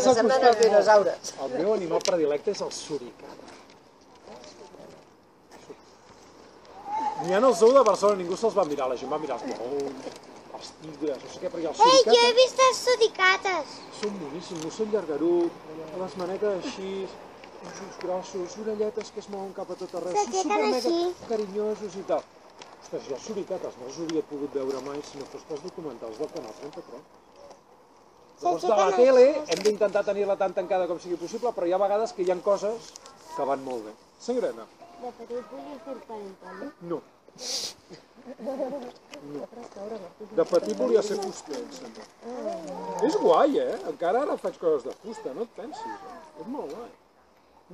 Semblen els dinosaures. El meu animal predilecte és el suricat. N'hi ha al zoo de Barcelona, ningú se'ls va mirar, la gent va mirar els lleons, els tigres, no sé què, perquè el suricat... Jo he vist els suricates. Són boníssims, no són llargarut, les manetes així, uns ulls grossos, orelletes que es mouen cap a tot arreu, són supermega carinyosos i tal. Ostres, jo suricates no els hauria pogut veure mai si no fos pels documentals del Canal 33. Llavors de la tele hem d'intentar tenir-la tan tancada com sigui possible, però hi ha vegades que hi ha coses que van molt bé. Senyoreta? De petit volia fer parental, no? De petit volia ser fuster, em sembla. És guai, eh? Encara ara faig coses de fusta, no et pensis. És molt guai.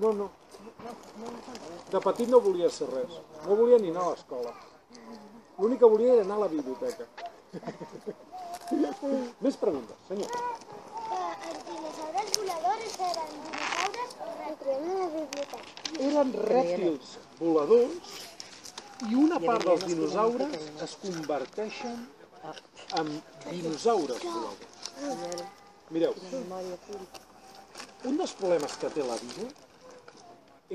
No, no. De petit no volia ser res. No volia ni anar a l'escola. L'únic que volia era anar a la biblioteca. Més preguntes, senyor. Els dinosaures voladors eren dinosaures o rèptils a la biblioteca? Eren rèptils voladors i una part dels dinosaures es converteixen en dinosaures voladors. Mireu, un dels problemes que té la vida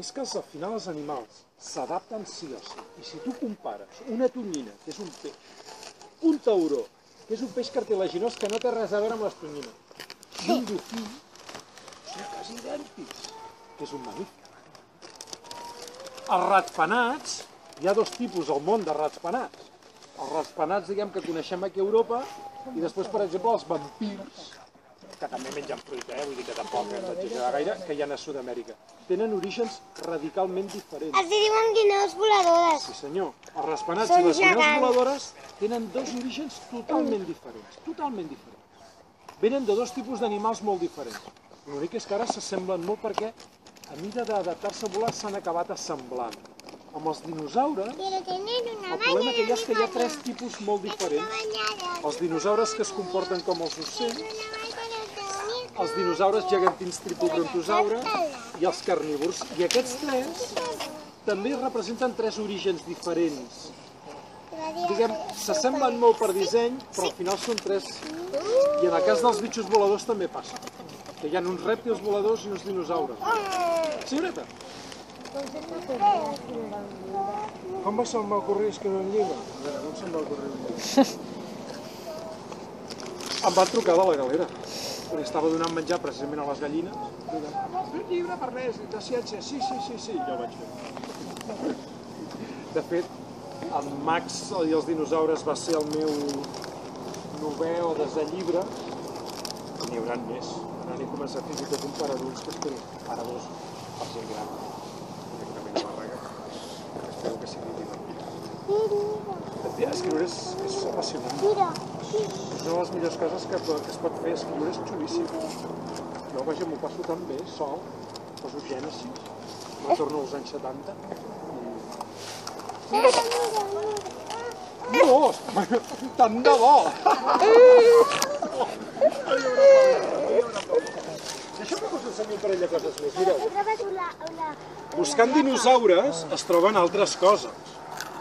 és que al final els animals s'adapten sí o sí. I si tu compares una tonyina, que és un peix, un tauró, que és un peix cartilaginós que no té res a veure amb les tonyines, i un dofí, són quasi idèntics, que és un mamífer. Els ratpenats, hi ha dos tipus al món de ratpenats. Els ratpenats, diguem, que coneixem aquí a Europa, i després, per exemple, els vampirs, que també mengen fruita, vull dir que tampoc hem d'exagerar gaire, que hi ha a Sud-amèrica. Tenen orígens radicalment diferents. Els diuen guineus voladores. Sí senyor, els ratpenats i les guineus voladores tenen dos orígens totalment diferents, Venen de dos tipus d'animals molt diferents. L'únic és que ara s'assemblen molt perquè a mida d'adaptar-se a volar s'han acabat assemblant. Amb els dinosaures, el problema que hi ha és que hi ha tres tipus molt diferents. Els dinosaures que es comporten com els ocells, els dinosaures gegantins tripobrontosaures i els carnívors. I aquests tres també representen tres orígens diferents. Diguem, s'assemblen molt per disseny, però al final són tres. I en el cas dels bitxos voladors també passa. Que hi ha uns rèptils voladors i uns dinosaures. Senyoreta? Com va se'm va ocorrir escriure un llibre? A veure, com se'm va ocorrir un llibre? Em van trucar de la galera. Perquè estava donant menjar precisament a les gallines. Un llibre per res, de ciència. Sí, jo el vaig fer. De fet, el Max i els dinosaures va ser el meu 9è o 10è llibre. N'hi haurà més. Ara n'he començat fins i tot un per adults que espero. Per adults, per gent gran. Directament a Barraga. Espero que sigui divertit. Escriure és apassionant. És una de les millors coses que es pot fer. Escriure és xulíssim. Jo, vaja, m'ho passo tan bé, sol, poso Gènesis, retorno als anys 70. No, tant de bo! Deixa'm que us ensenyi un parell de coses més. Mireu, buscant dinosaures es troben altres coses.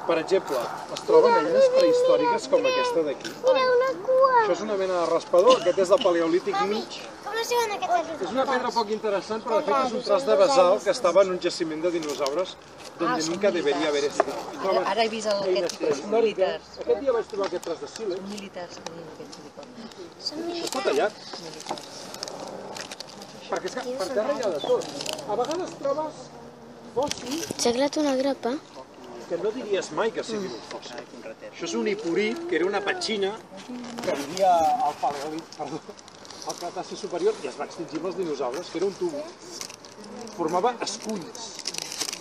Per exemple, es troben eines prehistòriques com aquesta d'aquí. Mira, una cua! Això és una mena de raspador, aquest és del paleolític mig. Com es diuen aquestes? És una pedra poc interessant, però de fet és un tros de basalt que estava en un jaciment de dinosaures donde nunca debería haver estat. Ara he vist aquest tipus militars. Aquest dia vaig trobar aquest tros de sílex. Militars que diuen aquests silicons. Això està tallat. Perquè és que per terra hi ha de tot. A vegades trobes fòssils... S'ha creat una grapa? Que no diries mai que siguin un fòssil. Això és un hiporit, que era una petxina que vivia al paleolític, perdó, al Cretaci superior, i es va extingir amb els dinosaures, que era un tub. Formava esculls,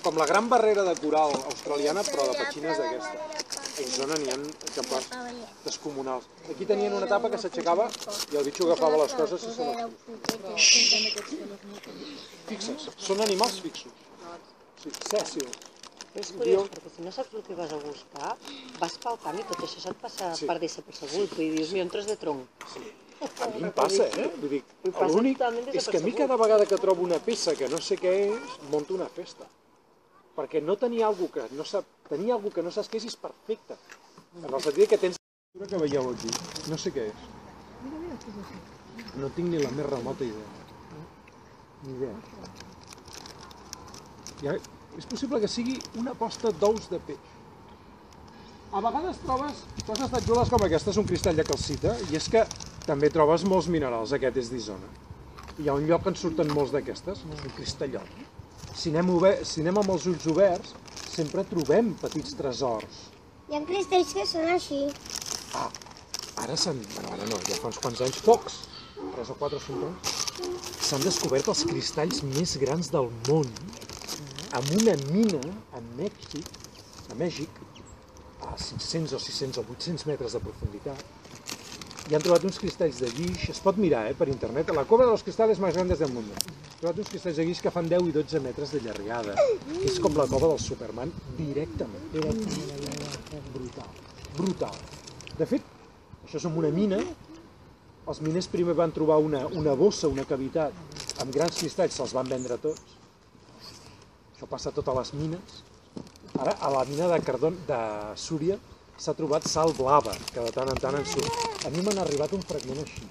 com la gran barrera de coral australiana, però de petxines d'aquesta. A Isona n'hi ha exemplars descomunals. Aquí tenien una tapa que s'aixecava i el bitxo agafava les coses i se les... Fixa't, són animals fixos. Sí, sèssils. És curiós, perquè si no saps el que vas a buscar, vas pel camp i tot això se't passa per desapercebut. Vull dir, dius, mira, un tros de tronc. A mi em passa, Vull dir, l'únic és que a mi cada vegada que trobo una peça que no sé què és, monto una festa. Perquè no tenia alguna que no sap... Tenia alguna que no saps què és perfecte. En el sentit que tens... que veieu aquí, no sé què és. No tinc ni la més remota idea. Ni idea. És possible que sigui una posta d'ous de peix. A vegades trobes coses tan xules com aquesta, és un cristall de calcita, i és que també trobes molts minerals, aquest és d'Isona. Hi ha un lloc que en surten molts d'aquestes, és un cristallot. Si anem amb els ulls oberts, sempre trobem petits tresors. Hi ha cristalls que són així. Ara ara no, ja fa uns quants anys, pocs, 3 o 4 o 5 anys, s'han descobert els cristalls més grans del món, amb una mina a Mèxic, a 500 o 600 o 800 metres de profunditat, i han trobat uns cristalls de guix, es pot mirar per internet, la cova de los cristales más grandes del mundo. Han trobat uns cristalls de guix que fan 10 i 12 metres de llargada, que és com la cova del Superman, directament. Brutal, brutal. De fet, això és una mina, els miners primer van trobar una bossa, una cavitat, amb grans cristalls, se'ls van vendre tots. Això passa a totes les mines. Ara, a la mina de Súria, s'ha trobat sal blava, que de tant en tant en surt. A mi m'han arribat un fragment així,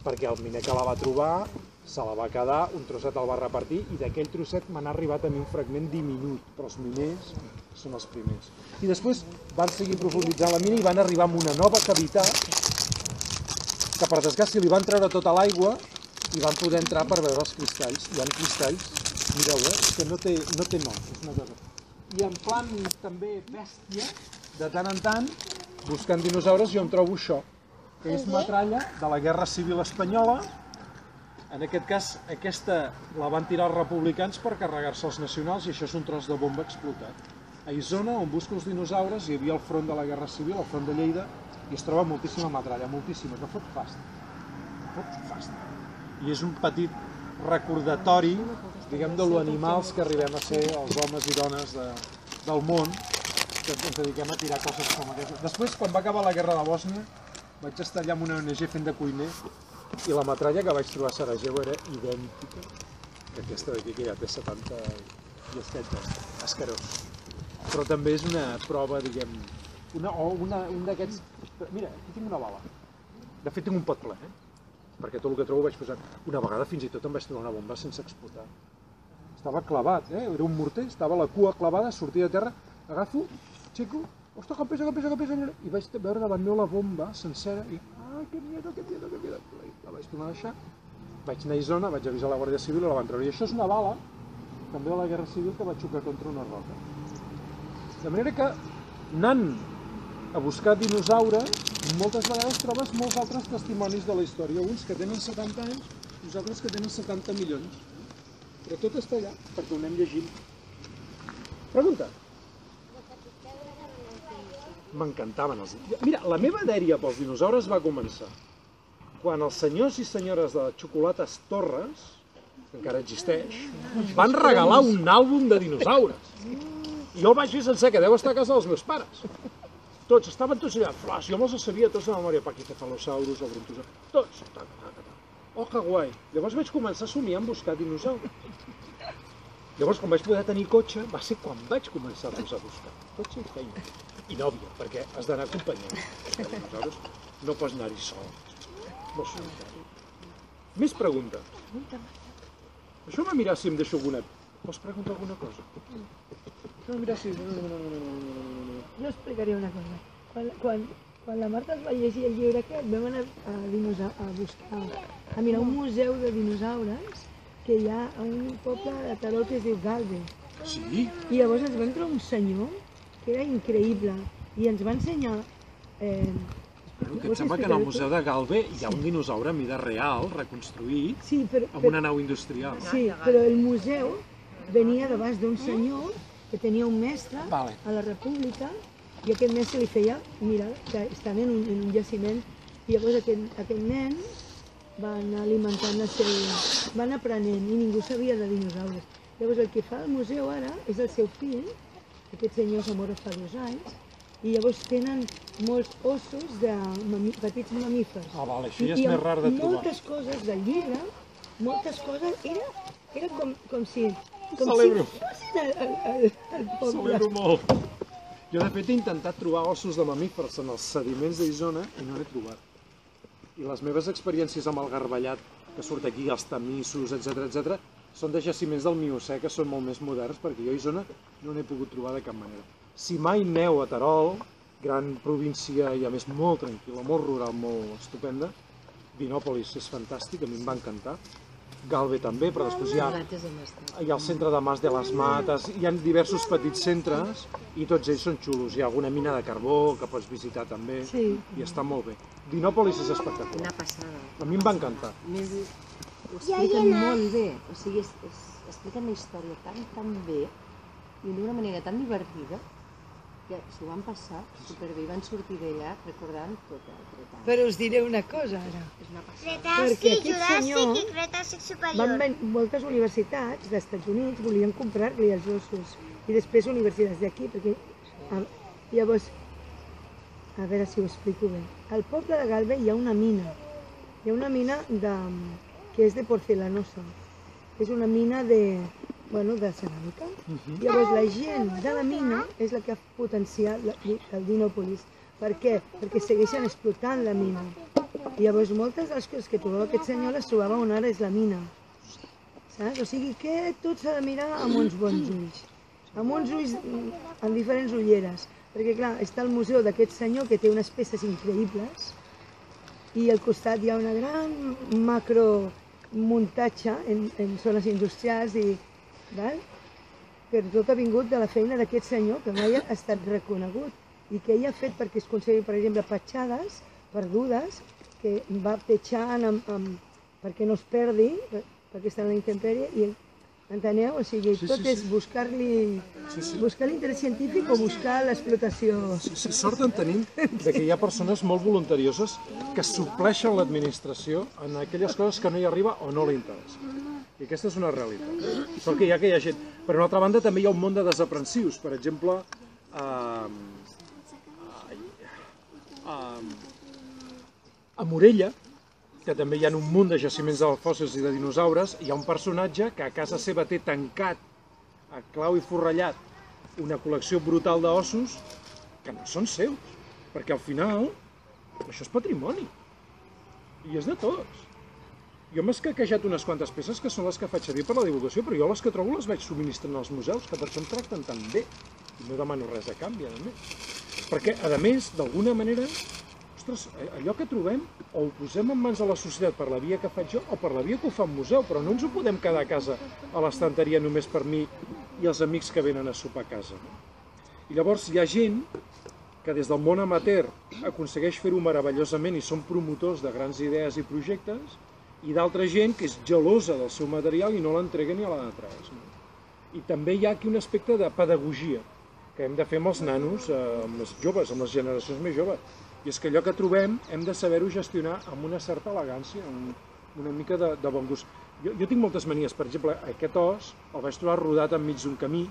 perquè el miner que la va trobar se la va quedar, un trosset el va repartir, i d'aquell trosset m'han arribat a mi un fragment diminut, però els miners són els primers. I després van seguir profunditzant la mina i van arribar a una nova cavitat, que per desgràcia li van treure tota l'aigua i van poder entrar per veure els cristalls. Hi ha cristalls, mireu, que no té nom, és una cosa. I en plan també bèstia, de tant en tant, buscant dinosaures, jo em trobo això, que és metralla de la Guerra Civil Espanyola. En aquest cas, aquesta la van tirar els republicans per carregar-se els nacionals, i això és un tros de bomba explotat. A Isona, on busco els dinosaures, hi havia el front de la Guerra Civil, el front de Lleida, i es troba moltíssima metralla, moltíssima, que fot fast. I és un petit recordatori, diguem, de lo animals que arribem a ser els homes i dones del món, que ens dediquem a tirar coses com aquesta. Després, quan va acabar la guerra de Bòsnia, vaig estar allà amb una ONG fent de cuiner, i la metralla que vaig trobar a Sarajevo era idèntica que aquesta d'aquí, que ja té 70 i estet escarós. Però també és una prova, diguem, un d'aquests... Mira, aquí tinc una bala. De fet, tinc un pot ple, perquè tot el que trobo vaig posar. Una vegada fins i tot em vaig trobar una bomba sense explotar. Estava clavat, era un morter, estava la cua clavada, sortia de terra, agafo, aixeco, ostres, que pesa, i vaig veure davant meu la bomba sencera i, que miedo, la vaig tornar a deixar. Vaig anar a Isona, vaig avisar la Guàrdia Civil i la van treure. I això és una bala, també de la Guerra Civil, que va xocar contra una roca. De manera que, anant a buscar dinosaures, moltes vegades trobes molts altres testimonis de la història, uns que tenen 70 anys, uns altres que tenen 70 milions. Però tot està allà, perquè ho anem llegint. Pregunta. M'encantaven els dinosaures. Mira, la meva dèria pels dinosaures va començar quan els senyors i senyores de Xocolates Torres, que encara existeix, van regalar un àlbum de dinosaures. I jo el vaig fer sencer, que deu estar a casa dels meus pares. Tots, estaven tots allà, flash, jo me'ls sabia tots de memòria, Pachycephalosaurus, o Brontosaurus, tots. Oh, que guai. Llavors vaig començar a somiar en buscar dinosaures. Llavors, quan vaig poder tenir cotxe, va ser quan vaig començar-los a buscar. Cotxe i feina. I nòvia, perquè has d'anar acompanyant. Els dinosaures no pots anar-hi sol. Molt solitari. Més preguntes. Això va mirar si em deixo alguna... Vols preguntar alguna cosa? Això va mirar si... Jo explicaré una cosa. Quan la Marta es va llegir el llibre aquest, vam anar a buscar, a mirar un museu de dinosaures que hi ha a un poble de Terol que es diu Galve. Sí? I llavors ens vam trobar un senyor que era increïble i ens va ensenyar... Que em sembla que en el Museu de Galve hi ha un dinosaure a mida real, reconstruït, amb una nau industrial. Sí, però el museu venia d'abans d'un senyor que tenia un mestre a la República i aquest mestre li feia, mira, que estaven en un jaciment i llavors aquest nen va anar alimentant el seu... va anar aprenent i ningú sabia de dinosaures. Llavors el que fa el museu ara és el seu fill, aquest senyor s'ha mort fa 2 anys, i llavors tenen molts ossos de petits mamífers. Ah, vale, això ja és més rar de trobar. I moltes coses del llibre, moltes coses, era com si... Celebro. El poble. Celebro molt. Jo, de fet, he intentat trobar ossos de mamífers en els sediments d'Isona i no n'he trobat. I les meves experiències amb el garbellat que surt aquí, els tamissos, etc., són de jaciments del Miocè, que són molt més moderns, perquè jo a Isona no n'he pogut trobar de cap manera. Si mai neu a Terol, gran província i a més molt tranquil·la, molt rural, molt estupenda, Dinòpolis és fantàstic, a mi em va encantar. Galve també, però després hi ha el centre de Mas de les Mates, hi ha diversos petits centres i tots ells són xulos. Hi ha alguna mina de carbó que pots visitar també i està molt bé. Dinòpolis és espectacular. Una passada. A mi em va encantar. Ho expliquen molt bé, o sigui, expliquen la història tan bé i d'una manera tan divertida s'ho van passar superbé, van sortir d'allà recordant tot el Cretaci. Però us diré una cosa ara. Cretaci, Juràssic i Cretaci superior. Moltes universitats dels Estats Units volien comprar-li els ossos i després universitats d'aquí, perquè llavors, a veure si ho explico bé. Al poble de Galve hi ha una mina. Hi ha una mina que és de porcelanosa. És una mina de ceràmica. Llavors la gent de la mina és la que ha potenciat el Dinòpolis. Per què? Perquè segueixen explotant la mina. Llavors moltes de les coses que trobava aquest senyor les trobava on ara és la mina. Saps? O sigui que tot s'ha de mirar amb uns bons ulls. Amb uns ulls, amb diferents ulleres. Perquè clar, està el museu d'aquest senyor que té unes peces increïbles i al costat hi ha una gran macromuntatge en zones industrials i però tot ha vingut de la feina d'aquest senyor que mai ha estat reconegut i que ell ha fet perquè es conservi, per exemple, petjades perdudes que va petjant perquè no es perdi, perquè està en la intempèrie i enteneu? O sigui, tot és buscar-li l'interès científic o buscar l'explotació. Sort en tenim que hi ha persones molt voluntarioses que supleixen l'administració en aquelles coses que no hi arriba o no li interessa. I aquesta és una realitat. Sort que hi ha gent. Per una altra banda, també hi ha un món de desaprensius. Per exemple, a Morella, que també hi ha un munt de jaciments de fòssils i de dinosaures, hi ha un personatge que a casa seva té tancat, a clau i forrellat, una col·lecció brutal d'ossos que no són seus, perquè al final això és patrimoni i és de tots. Jo m'he escaquejat unes quantes peces que són les que faig servir per la divulgació, però jo les que trobo les vaig subministrant als museus, que per això em tracten tan bé i no demano res a canvi, a més. Perquè, a més, d'alguna manera, ostres, allò que trobem o ho posem en mans de la societat per la via que faig jo o per la via que ho fa un museu, però no ens ho podem quedar a casa a l'estanteria només per mi i els amics que venen a sopar a casa. I llavors hi ha gent que des del món amateur aconsegueix fer-ho meravellosament i són promotors de grans idees i projectes, i d'altra gent que és gelosa del seu material i no l'entrega ni a la de 3. I també hi ha aquí un aspecte de pedagogia que hem de fer amb els nanos, amb els joves, amb les generacions més joves. I és que allò que trobem hem de saber-ho gestionar amb una certa elegància, amb una mica de bon gust. Jo tinc moltes manies, per exemple, aquest os el vaig trobar rodat enmig d'un camí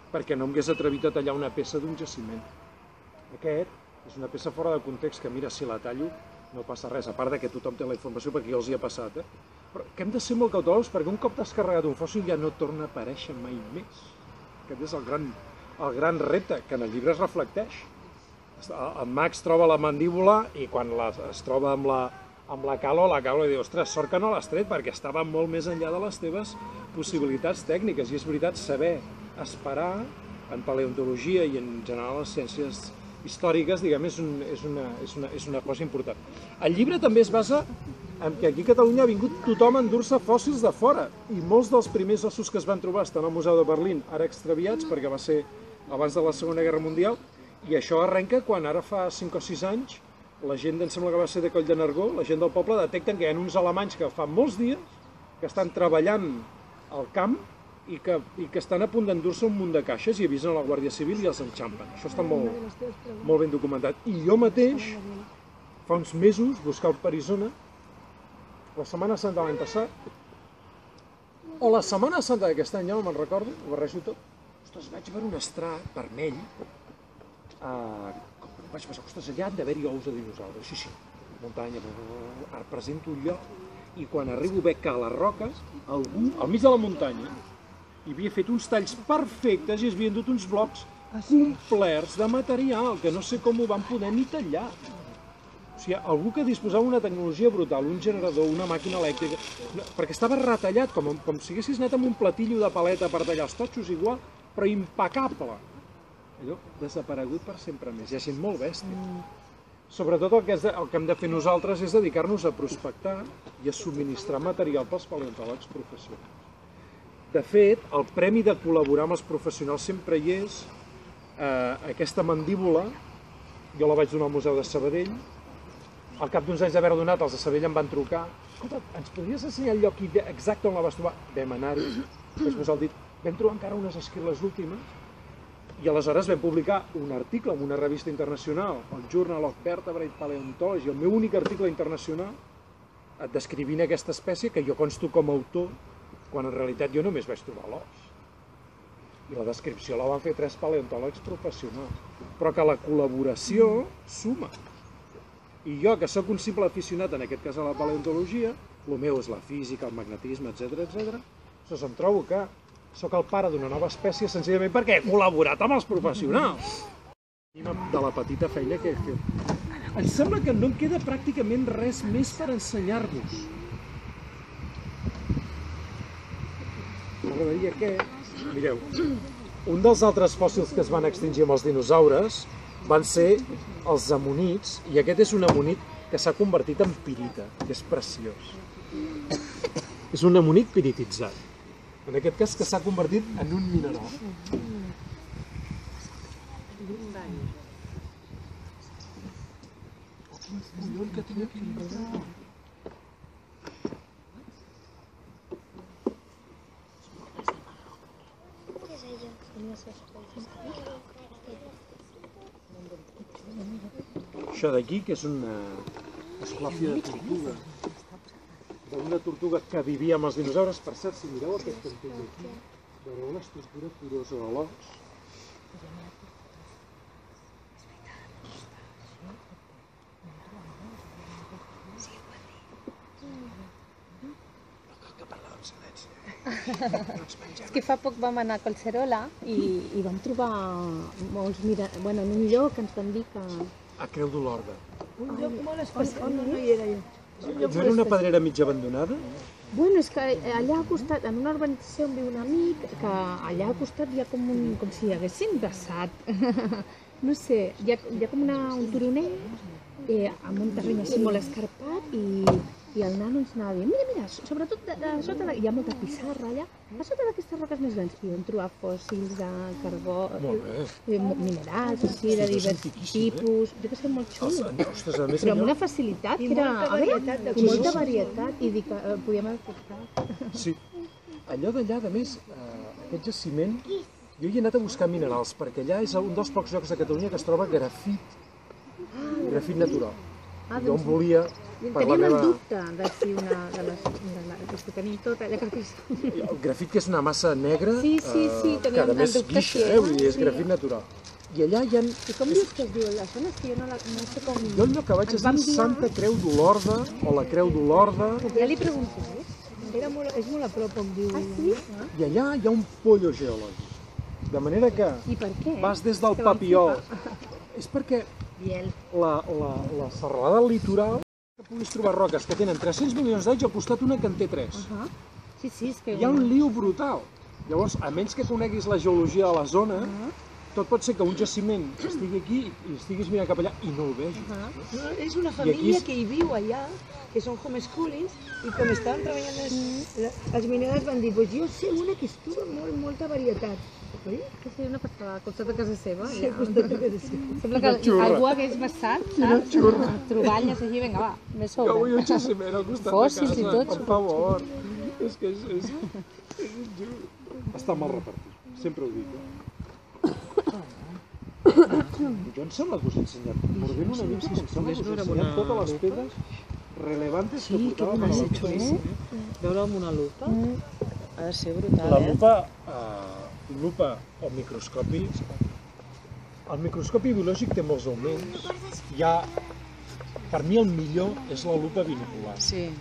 perquè no em hagués atrevit a tallar una peça d'un jaciment. Aquest és una peça fora de context que, mira, si la tallo no passa res, a part que tothom té la informació perquè ja els hi ha passat, però que hem de ser molt cautelosos perquè un cop t'has carregat un fòssil ja no torna a aparèixer mai més. Aquest és el gran repte, que en el llibre es reflecteix. El Max troba la mandíbula i quan es troba amb la Calo li diu, ostres, sort que no l'has tret perquè estava molt més enllà de les teves possibilitats tècniques. I és veritat, saber esperar en paleontologia i en general les ciències històriques, diguem, és una cosa important. El llibre també es basa en que aquí a Catalunya ha vingut tothom a endur-se fòssils de fora i molts dels primers ossos que es van trobar estan al Museu de Berlín, ara extraviats perquè va ser abans de la Segona Guerra Mundial, i això arrenca quan ara fa 5 o 6 anys la gent, em sembla que va ser de Coll de Nargó, la gent del poble detecten que hi ha uns alemanys que fa molts dies que estan treballant al camp i que estan a punt d'endur-se un munt de caixes i avisen a la Guàrdia Civil i els enxampen. Això està molt ben documentat. I jo mateix, fa uns mesos, buscant per Isona, la Setmana Santa de l'any passat, o la Setmana Santa d'aquest any, ja no me'n recordo, ho barrejo tot, ostres, vaig veure un estrat vermell, vaig pensar, ostres, allà han d'haver-hi ous de dinosaures, sí, muntanya, ara presento un lloc, i quan arribo veig que a les roques, algú, al mig de la muntanya, hi havia fet uns talls perfectes i es havien dut uns blocs complerts de material, que no sé com ho van poder ni tallar. O sigui, algú que disposava d'una tecnologia brutal, un generador, una màquina elèctrica, perquè estava retallat, com si haguessis anat amb un platillo de paleta per tallar els totxos igual, però impecable. Allò desaparegut per sempre més. Hi ha gent molt bèstia. Sobretot el que hem de fer nosaltres és dedicar-nos a prospectar i a subministrar material pels paleontòlegs professionals. De fet, el premi de col·laborar amb els professionals sempre hi és. Aquesta mandíbula, jo la vaig donar al Museu de Sabadell. Al cap d'uns anys d'haver-la donat, els de Sabadell em van trucar. Escolta, ens podries ensenyar el lloc exacte on la vas trobar? Vam anar-hi, després al dit, vam trobar encara unes esquirles últimes I aleshores vam publicar un article en una revista internacional, el Journal of Vertebrate Paleontology, el meu únic article internacional, descrivint aquesta espècie, que jo consto com a autor, quan en realitat jo només vaig trobar l'os. I la descripció la van fer 3 paleontòlegs professionals. Però que la col·laboració suma. I jo, que sóc un simple aficionat, en aquest cas a la paleontologia, el meu és la física, el magnetisme, etc. Doncs em trobo que sóc el pare d'una nova espècie senzillament perquè he col·laborat amb els professionals. De la petita feina que he fet. Em sembla que no em queda pràcticament res més per ensenyar-vos. M'agradaria que... Mireu, un dels altres fòssils que es van extingir amb els dinosaures van ser els amonits, i aquest és un amonit que s'ha convertit en pirita, que és preciós. És un amonit pirititzat. En aquest cas que s'ha convertit en un mineral. Això d'aquí, que és una esclàfia de tortuga. D'una tortuga que vivia amb els dinosaures. Per cert, si mireu aquest cantell aquí, veureu l'estructura porosa de l'os. És que fa poc vam anar a Collserola i vam trobar molts... en un lloc que ens van dir que... A Creu d'Olorda. Un lloc molt especial, no hi era jo. No era una pedrera mig abandonada? Bueno, és que allà al costat, en una urbanització on viu un amic, que allà al costat hi ha com si hi haguessin vessat. No sé, hi ha com un turoner amb un terreny així molt escarpat i el nano ens anava dient, mira, sobretot a sota hi ha molta pissarra allà, a sota d'aquestes roques més grans i vam trobar fòssils de carbó, minerals, així, de diversos tipus, jo que sé, molt xulo, però amb una facilitat que era, i molta varietat, i dic que podíem haver fet. Sí, allò d'allà, a més, aquest jaciment, jo hi he anat a buscar minerals, perquè allà és un dels pocs llocs de Catalunya que es troba grafit natural. Jo em volia... Teníem el dubte de si una de les que tenim tot allà que... El grafit, que és una massa negra, que a més guixa, vull dir, és grafit natural. I allà hi ha... I com dius que es diu la zona? És que jo no sé com... Jo el lloc que vaig és dir Santa Creu d'Olorda, o la Creu d'Olorda... Ja li preguntaré. És molt a prop, on diu... Ah, sí? I allà hi ha un pollo geològic. De manera que vas des del Papiol... És perquè la serralada litoral que puguis trobar roques que tenen 300 milions d'anys al costat una que en té 3. Hi ha un liu brutal. Llavors, a menys que coneguis la geologia de la zona, tot pot ser que un jaciment estigui aquí i estiguis mirant cap allà i no el vegis. És una família que hi viu allà, que són homeschoolis, i com estaven treballant els minerals van dir, jo sé una que es troba molta varietat. Sí, una passada, al costat de casa seva. Sí, al costat de casa seva. Sembla que algú hagués vessat, saps? Troballes així, vinga, va, més sobre. Jo vull un jaciment al costat de casa, per favor. És que és... Està mal repartit, sempre ho dic. Jo em sembla que us he ensenyat, mordent una mica, em sembla que us he ensenyat totes les pedres relevantes que portàvem a la lupa. Veure amb una lupa ha de ser brutal, La lupa o microscopi, el microscopi biològic té molts augments. Per mi el millor és la lupa binocular. Sí.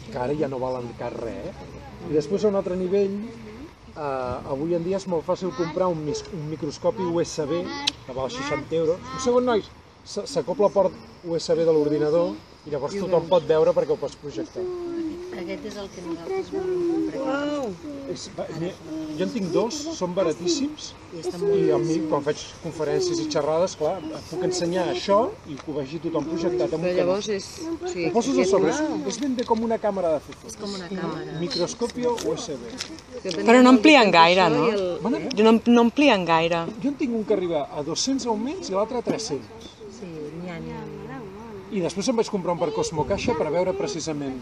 Que ara ja no valen cap res. I després a un altre nivell, avui en dia és molt fàcil comprar un microscopi USB que val 60 €. Un segon, nois, s'acopla el port USB de l'ordinador i llavors tothom pot veure perquè ho pots projectar. Aquest és el que nosaltres volem comprar. Jo en tinc 2, són baratíssims i a mi quan faig conferències i xerrades, clar, puc ensenyar això i que ho vegi tothom projectat amb un canó. Ho poses a sobre, és ben bé com una càmera de fer fotos. És com una càmera. Microscopio USB. Però no amplien gaire, no? No amplien gaire. Jo en tinc un que arriba a 200 augments i l'altre a 300. Sí, n'hi ha. I després em vaig comprar un per Cosmocaixa per veure precisament